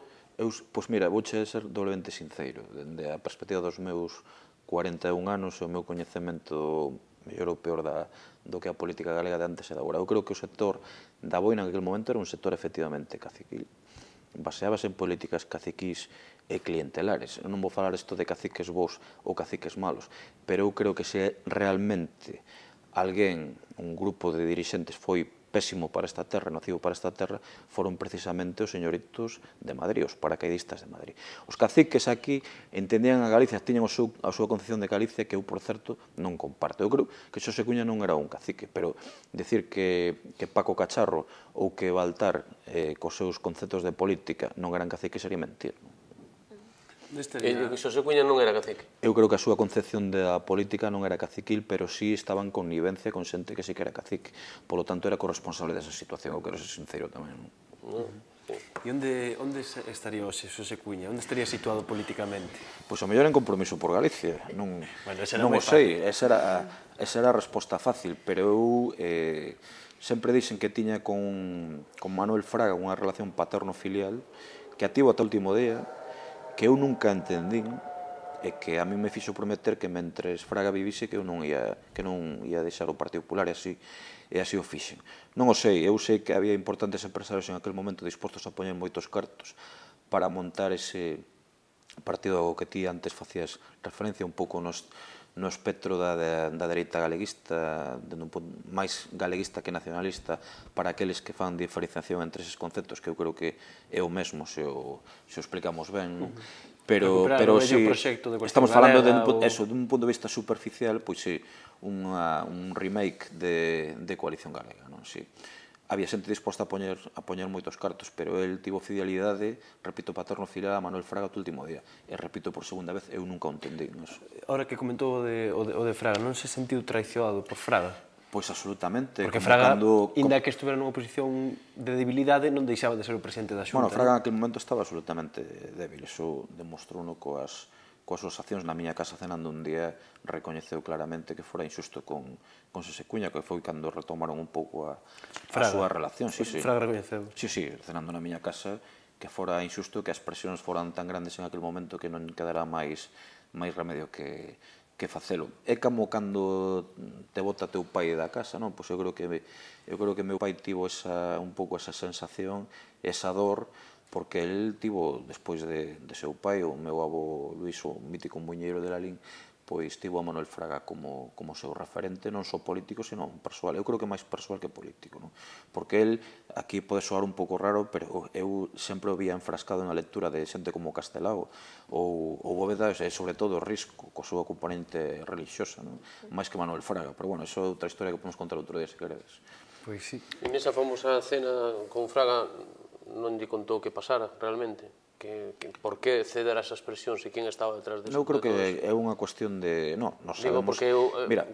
I: Pois mira, vouche ser doblemente sincero. Dende a perspectiva dos meus 41 anos, o meu coñecemento mellor ou peor do que a política galega de antes e de agora. Eu creo que o sector da boina en aquel momento era un sector efectivamente caciquil. baseábase en políticas caciquís e clientelares. Eu non vou falar isto de caciques bons ou caciques malos, pero eu creo que se realmente alguén, un grupo de dirixentes foi pésimo para esta terra, nocivo para esta terra, foron precisamente os señoritos de Madrid, os paracaidistas de Madrid. Os caciques aquí entendían a Galicia, tiñan a súa concepción de Galicia que eu, por certo, non comparto. Eu creo que Xosé Cuña non era un cacique, pero decir que Paco Cacharro ou que Baltar, cos seus conceptos de política, non eran caciques sería mentir.
D: Xosé Cuña non era cacique?
I: Eu creo que a súa concepción da política non era caciquil, pero sí estaba en connivencia con xente que sí que era cacique. Polo tanto, era corresponsable desa situación. Eu quero ser sincero tamén.
A: E onde estaría hoxe Xosé Cuña? Onde estaría situado políticamente?
I: Pois o mellor en Compromiso por Galicia. Non o sei, esa era a resposta fácil, pero eu sempre dixen que tiña con Manuel Fraga unha relación paterno-filial que ativo ata o último día, que eu nunca entendín e que a mí me fixo prometer que mentres Fraga vivise que eu non ia deixar o Partido Popular e así o fixen. Non o sei, eu sei que había importantes empresarios en aquel momento dispostos a poñer moitos cartos para montar ese partido ao que ti antes facías referencia un pouco no espectro da dereita galeguista, máis galeguista que nacionalista, para aqueles que fan diferenciación entre eses conceptos, que eu creo que é o mesmo se o explicamos ben, pero si estamos falando dun punto de vista superficial, pois si, un remake de Coalición Galega, non? Si había xente disposta a poñer moitos cartos, pero el tivo fidelidade, repito, paterno filial a Manuel Fraga o último día. E repito por segunda vez, eu nunca o entendí.
A: Ahora que comentou o de Fraga, non se sentiu traicionado por Fraga?
I: Pois absolutamente.
A: Porque Fraga, inda que estuvera nunha posición de debilidade, non deixaba de ser o presidente da Xunta.
I: Bueno, Fraga en aquel momento estaba absolutamente débil. Iso demostrou coas súas accións. Na miña casa cenando un día recoñeceu claramente que fora injusto con Xosé Cuña, que foi cando retomaron un pouco a súa relación.
A: Fraga recoñeceu.
I: Sí, cenando na miña casa, que fora injusto, que as presións foran tan grandes en aquel momento que non quedara máis remedio que facelo. É como cando te bota teu pai da casa, non? Pois eu creo que meu pai tivo un pouco esa sensación, esa dor, porque el tivo, despois de seu pai, o meu avó Luís, o mítico muiñeiro de Lalín, pois tivo a Manuel Fraga como seu referente, non só político, sino persoal. Eu creo que máis persoal que político, non? Porque el, aquí pode soar un pouco raro, pero eu sempre o vía enfrascado na lectura de xente como Castelao ou Bóveda, e sobre todo Risco, coa súa componente religiosa, non? Máis que Manuel Fraga, pero bueno, iso é outra historia que podemos contar outro día, se queredes.
A: Pois sí.
D: En esa famosa cena con Fraga non lle contou que pasara realmente? Por que ceder a esas presións e quen estaba detrás de eso?
I: Eu creo que é unha cuestión de... Non sabemos...
D: Digo, porque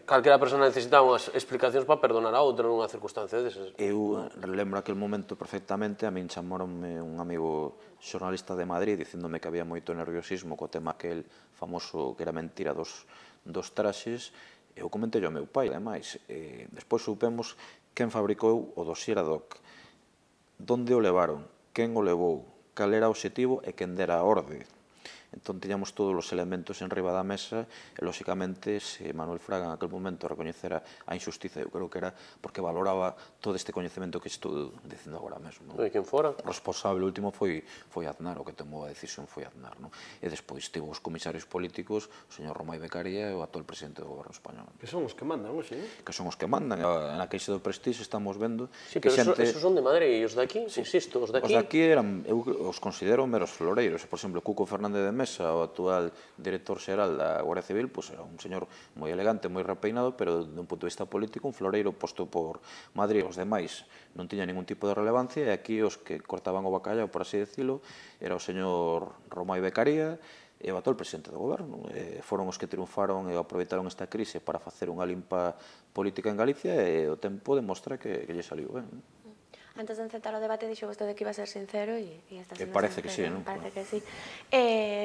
D: calquera persona necesitaba unhas explicacións para perdonar a outra nunha circunstancia desas.
I: Eu lembro aquel momento perfectamente, a min chamaronme un amigo xornalista de Madrid dicéndome que había moito nerviosismo co tema aquel famoso que era mentira dos traxes. Eu comentei ao meu pai, ademais. Despois supemos quen fabricou o dossier ad hoc, onde o levaron, quen o levou, cal era o obxectivo e quen dera a orde. Entón, tiñamos todos os elementos en riba da mesa e, lóxicamente, se Manuel Fraga en aquel momento recoñecera a injustiza, eu creo que era porque valoraba todo este coñecemento que estou dicindo agora mesmo.
D: E quen fora?
I: O responsable último foi Aznar, o que tomou a decisión foi Aznar. E despois tivo os comisarios políticos, o señor Romai Becaría e o actual presidente do goberno español.
A: Que son os que mandan, non?
I: Que son os que mandan. Na queixa do Prestige estamos vendo...
D: Sí, pero esos son de Madrid, e os de aquí, insisto, os de aquí...
I: Os de aquí eu os considero meros floreiros. Por exemplo, Cuco Fernández de Mesa, o actual director xeral da Guardia Civil, pois era un señor moi elegante, moi repeinado, pero dun punto de vista político un floreiro posto por Madrid. Os demais non tiña ningún tipo de relevancia e aquí os que cortaban o bacallao, por así decirlo, era o señor Romai Becaría e o actual presidente do goberno. Foron os que triunfaron e aproveitaron esta crise para facer unha limpa política en Galicia e o tempo demostra que lle saliu ben.
G: Antes de encetar o debate dixo vostede que iba a ser sincero e está sendo
I: parece que sí, non?
G: Parece que sí.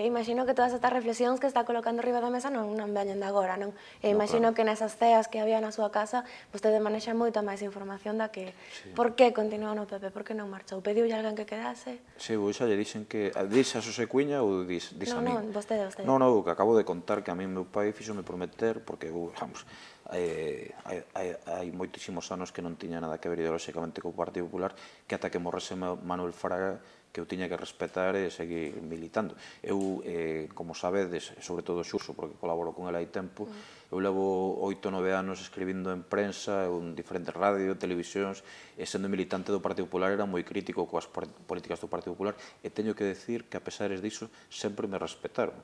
G: Imagino que todas estas reflexións que está colocando riba da mesa non veñen de agora, non? Imagino que nesas ceas que había na súa casa vostede manexa moita máis información da que... Por que continuou no PP? Por que non marchou? Pediulle alguén que quedase?
I: Sí, eu xa lle dixen que... Dix a Xosé Cuña ou dix a mí?
G: Non, vostede.
I: Non, que acabo de contar que a mí meu pai fixome prometer porque, vamos... hai moitísimos anos que non tiña nada que ver ideolóxicamente co Partido Popular Popular, que ata que morrese Manuel Fraga, que eu tiña que respetar e seguir militando. Eu, como sabedes, sobre todo Xurso, porque colaboro con ele hai tempo, eu levo 8 ou 9 anos escribindo en prensa, en diferentes radio, televisións, e sendo militante do Partido Popular era moi crítico coas políticas do Partido Popular, e teño que decir que, a pesares diso, sempre me respetaron.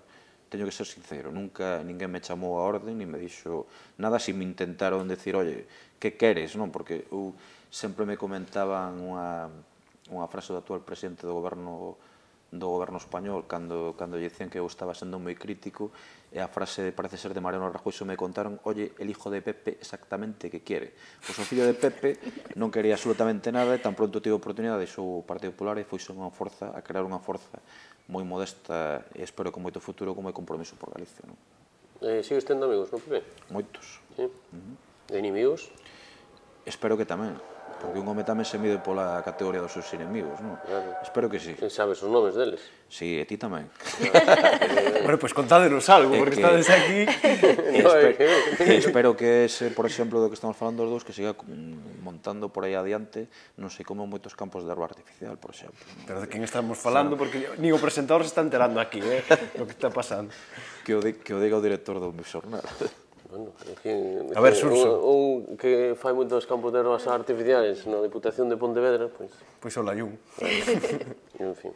I: Teño que ser sincero, nunca ninguén me chamou a orden, ni me dixo nada, si me intentaron decir, oye, que queres, non? Porque eu sempre me comentaban unha frase do actual presidente do goberno español cando lle dicían que eu estaba sendo moi crítico, e a frase parece ser de Mariano Rajoy, me contaron, oye, el hijo de Pepe exactamente que quiere. Pois o fillo de Pepe non quería absolutamente nada, e tan pronto tive a oportunidade deixou o Partido Popular e foise a crear unha forza moi modesta, e espero con moito futuro, como é Compromiso por Galicia.
D: Sigues tendo amigos no PP?
I: Moitos.
D: E inimigos?
I: Espero que tamén, porque un home tamén se mide pola categoría dos seus inimigos, non? Espero que sí.
D: Sabes os nomes deles?
I: Sí, e ti tamén.
A: Bueno, pois contádenos algo, porque estades aquí.
I: Espero que ese, por exemplo, do que estamos falando os dous, que siga montando por aí adiante, non sei como moitos campos de erva artificial, por exemplo.
A: Pero de quen estamos falando, porque nin o presentador se está enterando aquí, o que está pasando.
I: Que o diga o director do meu xornal.
D: Bueno,
A: a ver, Xurso.
D: Un que fai moitos campos de ervas artificiais na Diputación de Pontevedra, pois...
A: Pois o Layún.
D: En fin.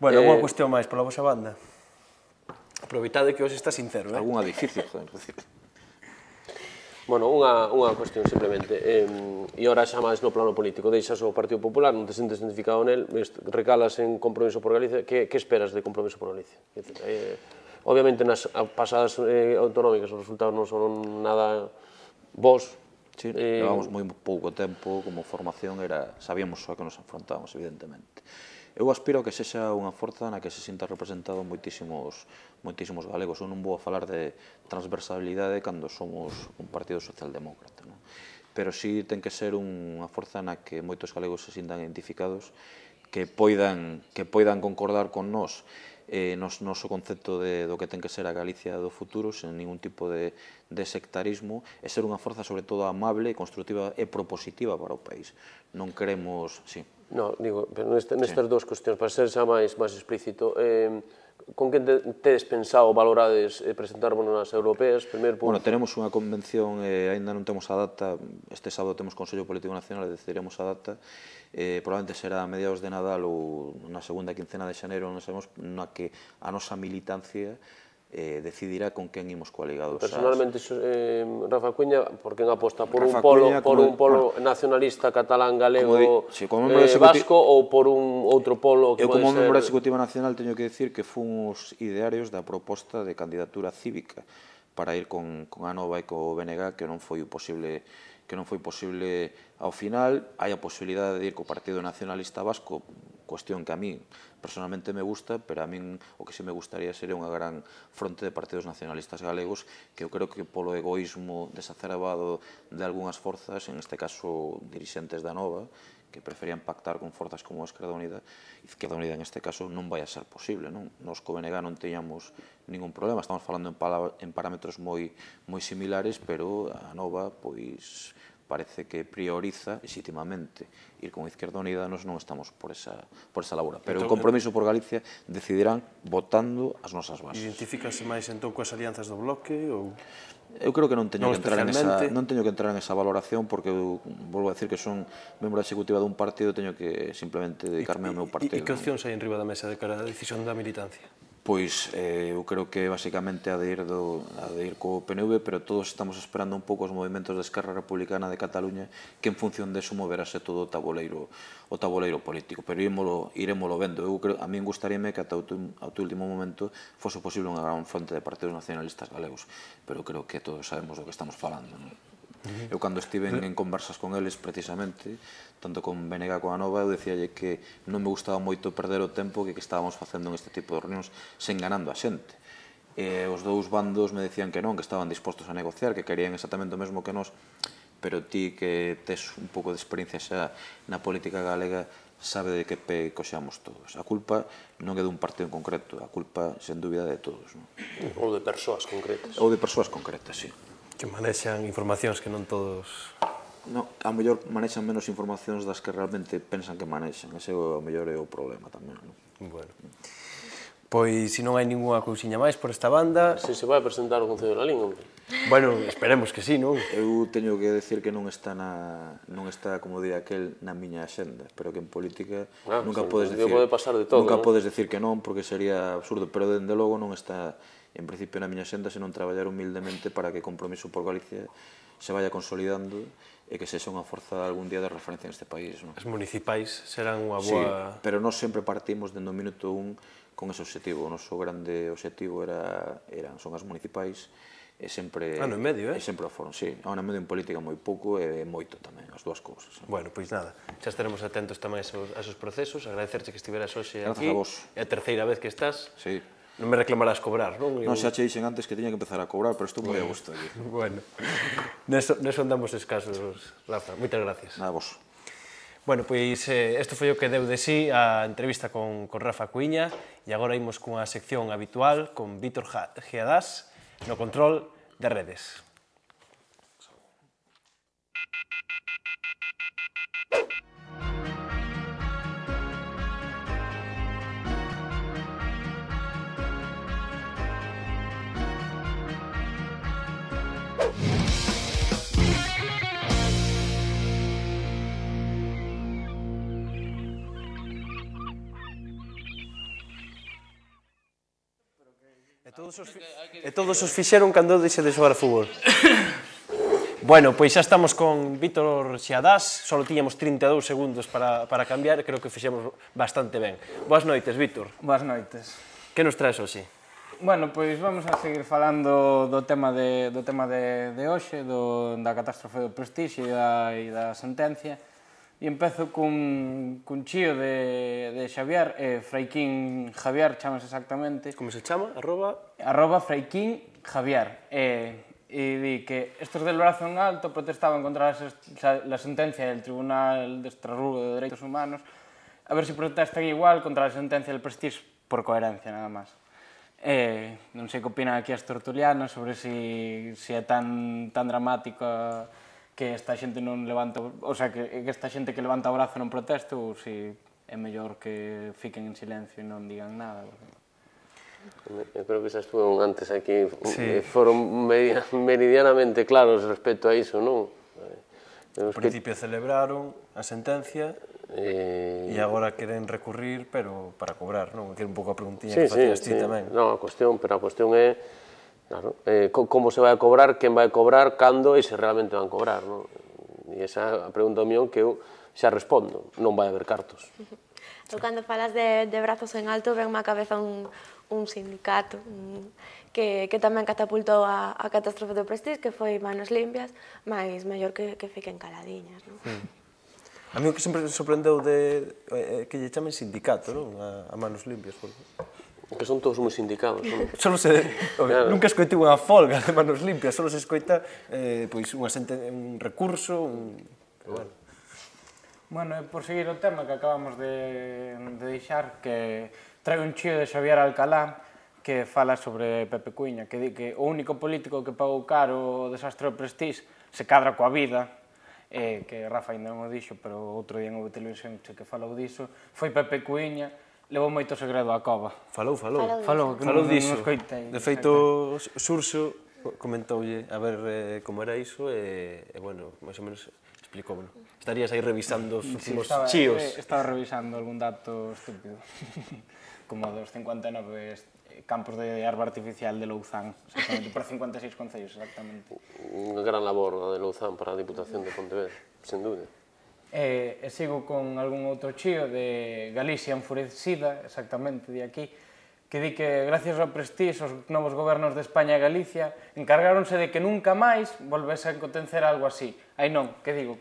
A: Bueno, unha cuestión máis pola vosa banda. Aproveitade que hoxe está sincero,
I: Algún edificio, joder.
D: Bueno, unha cuestión simplemente. E ora xa máis no plano político. Deixas o Partido Popular, non te sentes identificado nel, recalas en Compromiso por Galicia. Que esperas de Compromiso por Galicia? Obviamente, nas pasadas autonómicas os resultados non son nada bons.
I: Sí, levamos moi pouco tempo, como formación sabíamos a que nos enfrontábamos, evidentemente. Eu aspiro a que sexa unha forza na que se sinta representado moitísimos galegos. Eu non vou a falar de transversalidade cando somos un partido socialdemócrata, non? Pero sí ten que ser unha forza na que moitos galegos se sintan identificados, que poidan concordar con nós noso concepto do que ten que ser a Galicia do futuro, sen ningún tipo de sectarismo, e ser unha forza sobre todo amable, constructiva e propositiva para o país. Non queremos... Sí.
D: No, digo, pero nestas dúas cuestións, para ser xa máis explícito, con que tedes pensado, valorades presentarvos nas europeas?
I: Bueno, tenemos unha convención, ainda non temos a data, este sábado temos Consello Político Nacional e decidiremos a data, probablemente será a mediados de Nadal ou na segunda quincena de xaneiro, non sabemos, na que a nosa militancia decidirá con quen imos coaligados.
D: Personalmente, Rafa Cuña, por quen aposta? Por un polo nacionalista catalán, galego, vasco, ou por un outro polo que pode ser...
I: Eu, como membro da Executiva Nacional, teño que decir que fun os idearios da proposta de candidatura cívica para ir con Anova e co BNG, que non foi posible ao final. Hai a posibilidade de ir co Partido Nacionalista Vasco, cuestión que a mí personalmente me gusta, pero a min o que se me gustaría sería unha gran fronte de partidos nacionalistas galegos, que eu creo que polo egoísmo desacerbado de algunhas forzas, en este caso dirixentes da Nova, que preferían pactar con forzas como a Izquierda Unida en este caso, non vai a ser posible, non? Nos co BNG non teñamos ningún problema, estamos falando en parámetros moi similares, pero a Nova, pois, parece que prioriza legítimamente ir con Izquierda Unida, nós non estamos por esa labora. Pero o Compromiso por Galicia decidirán votando as nosas bases.
A: Identifícase máis entón coas alianzas do bloque?
I: Eu creo que non teño que entrar en esa valoración, porque eu volvo a decir que son membro da executiva dun partido, teño que simplemente dedicarme ao meu partido.
A: E que opcións hai enriba da mesa de cara á decisión da militancia?
I: Pois eu creo que basicamente ha de ir co PNV, pero todos estamos esperando un pouco os movimentos da Esquerra Republicana de Cataluña, que en función deso moverase todo o tabuleiro político, pero irémolo vendo. A min gustaríame que ata o último momento fose posible unha gran fronte de partidos nacionalistas galegos, pero creo que todos sabemos do que estamos falando, non? Eu cando estive en conversas con eles precisamente, tanto con BNG como a Nova, eu dicíalle que non me gustaba moito perder o tempo que estábamos facendo en este tipo de reunións sen ganando a xente. Os dous bandos me decían que non, que estaban dispostos a negociar, que querían exactamente o mesmo que nós, pero ti que tes un pouco de experiencia xa na política galega sabe de que pé coxeamos todos. A culpa non é dun partido en concreto, a culpa, sen dúbida, de todos.
D: Ou de persoas concretas.
I: Ou de persoas concretas, sí.
A: Que manexan informacións que non todos
I: A mellor manexan menos informacións das que realmente pensan que manexan. Ese a mellor é o problema tamén.
A: Bueno. Pois, se non hai ninguna cousiña máis por esta banda...
D: Se vai presentar o Concello de Lalín, hombre.
A: Bueno, esperemos que sí, non?
I: Eu teño que decir que non está, como di aquel, na miña axenda, pero que en política nunca podes decir...
D: Pode pasar de todo,
I: nunca podes decir que non, porque sería absurdo, pero dende logo non está, en principio, na miña axenda, senón traballar humildemente para que o compromiso por Galicia se vaya consolidando e que sexa unha forza algún día de referencia neste país.
A: As municipais serán unha boa...
I: Sí, pero nós sempre partimos dende o minuto 1 con ese objetivo. O noso grande objetivo son as municipais e sempre...
A: Ano e medio,
I: E sempre o foron, sí. Ano e medio en política moi pouco e moito tamén, as dúas cousas.
A: Bueno, pois nada, xa estaremos atentos tamén a esos procesos, agradecerche que estiveras hoxe aquí.
I: Grazas a vos.
A: É a terceira vez que estás.
I: Sí.
A: Non me reclamarás cobrar, non?
I: Non, xa che dixen antes que tiña que empezar a cobrar, pero estou moi a gusto aquí.
A: Bueno, neso andamos escasos, Rafa. Moitas gracias.
I: Nada, vos.
A: Bueno, pois isto foi o que deu de sí a entrevista con Rafa Cuíña e agora imos cunha sección habitual con Vítor Geadás no control de redes. E todos os fixeron cando deixe de xogar a fútbol. Bueno, pois xa estamos con Vítor Xeadás, só tiñamos 32 segundos para cambiar, creo que fixemos bastante ben. Boas noites, Vítor.
J: Boas noites.
A: Que nos traes hoxe?
J: Bueno, pois vamos a seguir falando do tema de hoxe, da catástrofe do Prestige e da sentencia. E empezo cun chío de Xavier, Fraiquín Javier, chamase exactamente.
A: Como se chama?
J: Arroba Fraiquín Javier. E di que estos del brazo en alto protestaban contra la sentencia del Tribunal de Estrasburgo de Derechos Humanos, a ver si protestan igual contra la sentencia del Prestige por coherencia, nada máis. Non sei que opinan aquí as tertulianas sobre se é tan dramática que esta xente non levanta, o sea, que esta xente que levanta o brazo non protesta ou se é mellor que fiquen en silencio e non digan nada.
D: Eu creo que xa estuve antes aquí, foron meridianamente claros respecto a iso, non?
A: Ao principio celebraron a sentencia e agora queren recurrir, pero para cobrar, non? Que é un pouco a preguntiña que facías ti tamén.
D: Non, a cuestión é claro, como se vai a cobrar, quen vai a cobrar, cando e se realmente van a cobrar, non? E esa é a pregunta mío que eu xa respondo, non vai haber cartos.
G: Eu cando falas de brazos en alto venme a cabeza un sindicato que tamén catapultou a catástrofe do Prestige, que foi Manos Limpias, mas mellor que fiquen caladiñas, non?
A: A mí o que sempre me sorprendeu que lle chamen sindicato, non? A Manos Limpias,
D: que son todos moi sindicados, non?
A: Nunca escoitei unha folga de Manos Limpias, só se escoita un recurso,
J: Bueno, por seguir o tema que acabamos de deixar, que trae un chío de Xavier Alcalá que fala sobre Pepe Cuíña, que di que o único político que pagou caro o desastre do Prestige se cadra coa vida, que Rafa ainda non o dixo, pero outro día en o televisión que falou diso, foi Pepe Cuíña. Levou moito segredo á cova.
A: Falou
J: diso.
A: De feito, Xurxo comentoulle a ver como era iso e, bueno, máis ou menos explicouno. Estarías aí revisando os últimos chíos.
J: Estaba revisando algún dato estúpido, como dos 59 campos de arba artificial de Louzán, exactamente, por 56 concellos, exactamente.
D: Unha gran labor de Louzán para a Diputación de Pontevedra, sen dúbida.
J: E sigo con algún outro chío de Galicia enfurecida, exactamente, de aquí, que di que gracias ao Prestige os novos gobernos de España e Galicia encargáronse de que nunca máis volvese a acontecer algo así. Aí non, que digo?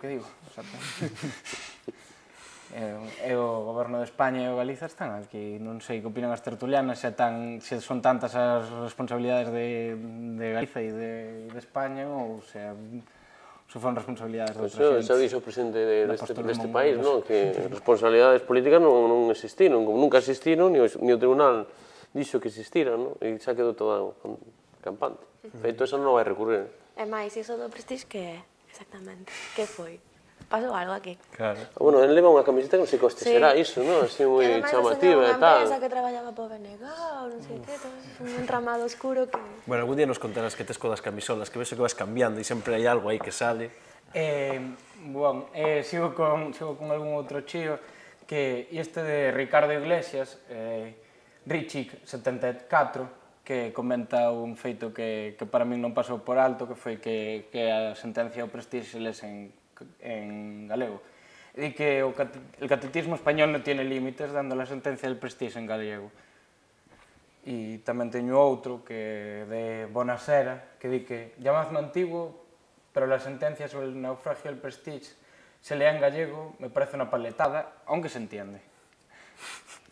J: E o goberno de España e o Galicia están aquí, non sei que opinan as tertulianas, se son tantas as responsabilidades de Galicia e de España ou se foron responsabilidades de outra xente.
D: Xa dixo o presidente deste país, que responsabilidades políticas non existiron, como nunca existiron, ni o tribunal dixo que existiran, e xa quedou todo campante. Feito, eso non vai recurrir.
G: E máis, iso do Prestige que é Exactamente. Que foi? Pasou algo aquí.
A: Claro.
D: Bueno, ele leva unha camiseta que non sei que hoste será iso, non? Así moi chamativa e tal.
G: Ademais, unha empresa que traballaba para o BNG, non sei que, un entramado oscuro que...
A: Bueno, algún día nos contarás que tes co das camisolas, que ves que vas cambiando e sempre hai algo aí que sale.
J: Sigo con algún outro chío que este de Ricardo Iglesias, Richic 74, que comenta un feito que para min non pasou por alto, que foi que a sentencia ao Prestige se lese en galego. E que el catecismo español non tiene límites dando la sentencia del Prestige en galego. E tamén teño outro que de Bonasera, que di que llamadme antiguo, pero la sentencia sobre el naufragio del Prestige se lea en gallego, me parece unha paletada, aunque se entiende.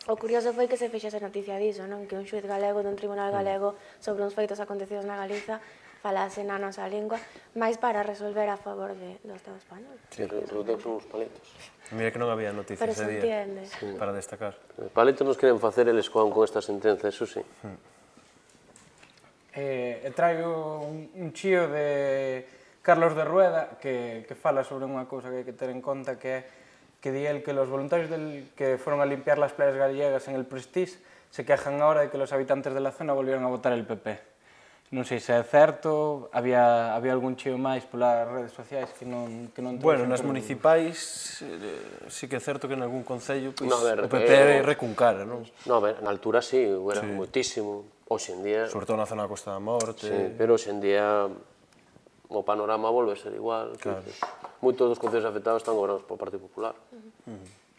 G: O curioso foi que se fixese noticia diso, non? Que un xuiz galego dun tribunal galego sobre uns feitos acontecidos na Galiza falase na nosa lingua, máis para resolver a favor do Estado español.
D: Sí, pero ten son uns paletos.
A: Mira que non había noticias ese día para destacar.
D: Paletos nos queren facer eles con esta sentenza, eso sí.
J: Traigo un chío de Carlos de Rueda que fala sobre unha cousa que hai que ter en conta, que di él que los voluntarios que fueron a limpiar las playas gallegas en el Prestige se quejan ahora de que los habitantes de la zona volvieron a votar el PP. Non sei se é certo, había algún chío máis polas redes sociais que non...
A: Bueno, nas municipais sí que é certo que en algún concello o PP recuncara, non?
D: Non, a ver, na altura sí, era moitísimo. Hoxe en día...
A: Sobre todo na zona da Costa da Morte.
D: Sí, pero hoxe en día o panorama volve a ser igual. Moitos dos concellos afectados están gobernados polo Partido Popular.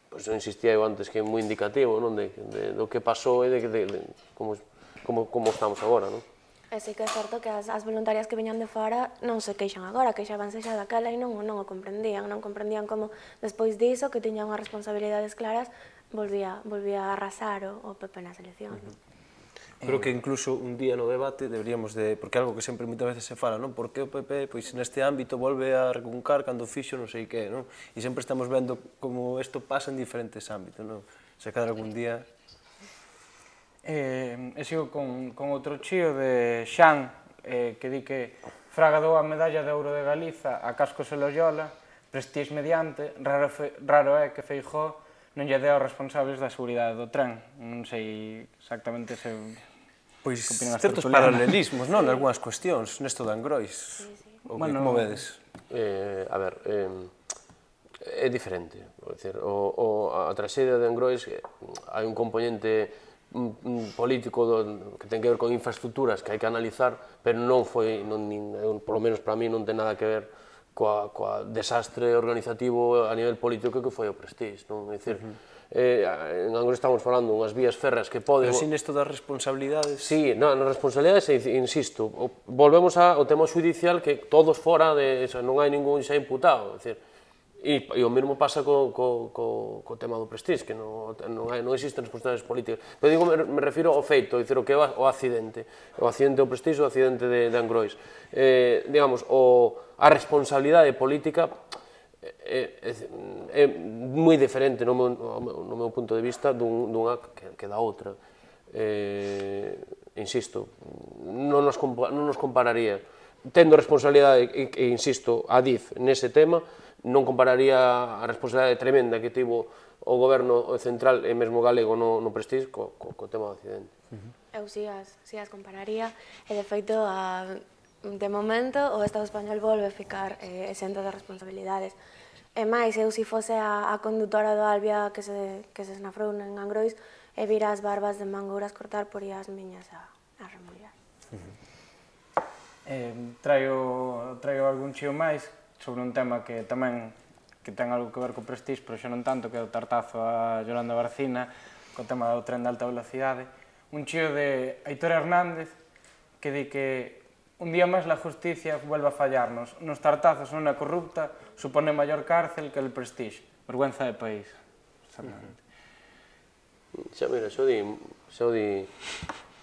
D: Por iso insistía eu antes que é moi indicativo do que pasou e de como estamos agora, non?
G: E sí que é certo que as voluntarias que viñan de fora non se queixan agora, queixabanse xa daquela e non o comprendían. Non comprendían como, despois diso, que tiñan unhas responsabilidades claras, volvía a arrasar o PP nas eleccións.
A: Creo que incluso un día no debate deberíamos de... Porque é algo que sempre moitas veces se fala, non? Por que o PP neste ámbito volve a recuncar cando fixo non sei que, non? E sempre estamos vendo como isto pasa en diferentes ámbitos, non? Se cadra algún día...
J: E sigo con outro chío de Xan, que di que Fraga dou a medalla de ouro de Galiza a Cascos e Loyola, Prestige mediante, raro é que Feijóo non lle deu aos responsables da seguridade do tren. Non sei exactamente se...
A: Pois certos paralelismos, non? Algúnas cuestións, nesto de Angrois. Como vedes?
D: A ver, é diferente. A traxedia de Angrois hai un componente político que ten que ver con infraestructuras que hai que analizar, pero non foi, polo menos para mí, non ten nada que ver coa desastre organizativo a nivel político que foi o Prestige, non? É dicir, en Angrois estamos falando unhas vías férreas que poden...
A: Pero sin isto das responsabilidades...
D: Sí, nas responsabilidades, insisto, volvemos ao tema judicial que todos fora, non hai ningún xa imputado, é dicir, e o mesmo pasa co tema do Prestige, que non existen responsabilidades políticas. Pero digo, me refiro ao feito, o que é o accidente. O accidente do Prestige ou o accidente de Angrois. Digamos, a responsabilidade política é moi diferente no meu punto de vista dunha que da outra. Insisto, non nos compararía. Tendo responsabilidade, e insisto, a DIF nese tema, non compararía a responsabilidade tremenda que tivo o goberno central e mesmo galego no Prestige co tema do accidente.
G: Eu si as compararía, e de feito, de momento, o Estado español volve a ficar exento de responsabilidades. E máis, eu se fose a condutora do Albia que se esnafrou en Angrois, e vira as barbas de Mangouras cortar por as miñas a remollar.
J: Traigo algún chío máis sobre un tema que tamén ten algo que ver co Prestige, pero xa non tanto, que é o tartazo a Yolanda Barcina, co tema do tren de alta velocidade. Un chío de Aitor Hernández, que di que un día máis la justicia vuelve a fallarnos. Nos tartazos unha corrupta supone maior cárcel que el Prestige. Vergüenza de país.
D: Xa, mira, xo di...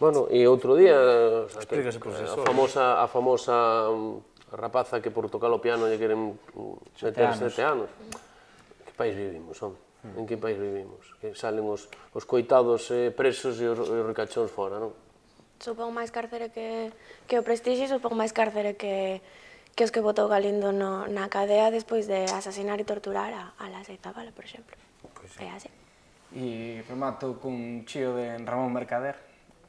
D: Bueno, e outro día, a famosa rapaza que por tocar o piano lle queren meter 7 anos. Que país vivimos, home? En que país vivimos? Que salen os coitados presos e os ricachóns fora, non?
G: Supón máis cárcere que o Prestige, supón máis cárcere que que os que botou Galindo na cadea despois de asasinar e torturar a Laxa e Zabala, por exemplo. É así.
J: E remato cun chío de Ramón Mercader,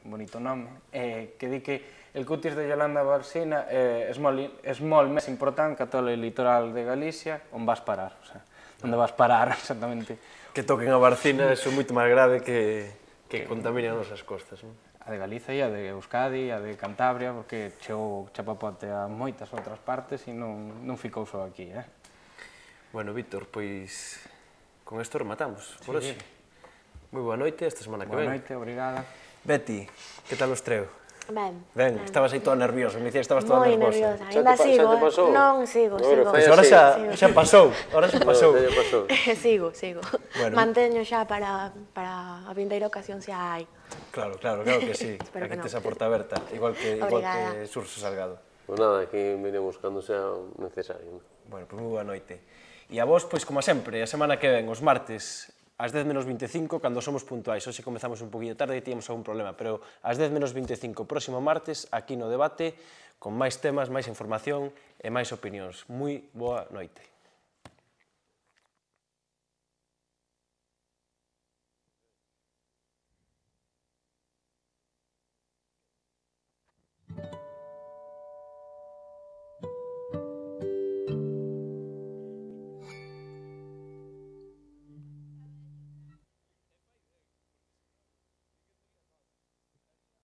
J: un bonito nome, que di que el cutis de Yolanda Balsina é molt máis importante que todo o litoral de Galicia, on vas parar, o sea, onde vas parar exactamente.
A: Que toquen a Barcina, eso é moito máis grave que contaminen as nosas costas, non?
J: A de Galiza e a de Euskadi, a de Cantabria, porque chegou chapapote a moitas outras partes e non ficou só aquí,
A: Bueno, Víctor, pois con isto rematamos por hoxe. Moi boa noite, esta semana que ven.
J: Boa noite, obrigada.
A: Betty, que tal os treo?
G: Ben,
A: estabas aí toda nerviosa, me dicías que estabas toda
G: moi
A: nervosa.
G: nerviosa, ainda sigo, non, sigo.
A: Pois ahora xa pasou,
G: Sigo. Manteño xa para a vindeira ocasión se hai.
A: Claro que sí, aquí tes a porta aberta, igual que Surso Salgado.
D: Pois nada, aquí veremos cando sea necesario.
A: Bueno, pois moi boa noite. E a vos, pois como sempre, a semana que ven, os martes, ás 10 menos 25, cando somos puntuais. Hoxe comezamos un poquinho tarde e tíamos algún problema, pero ás 10 menos 25, próximo martes, aquí no debate, con máis temas, máis información e máis opinións. Moi boa noite.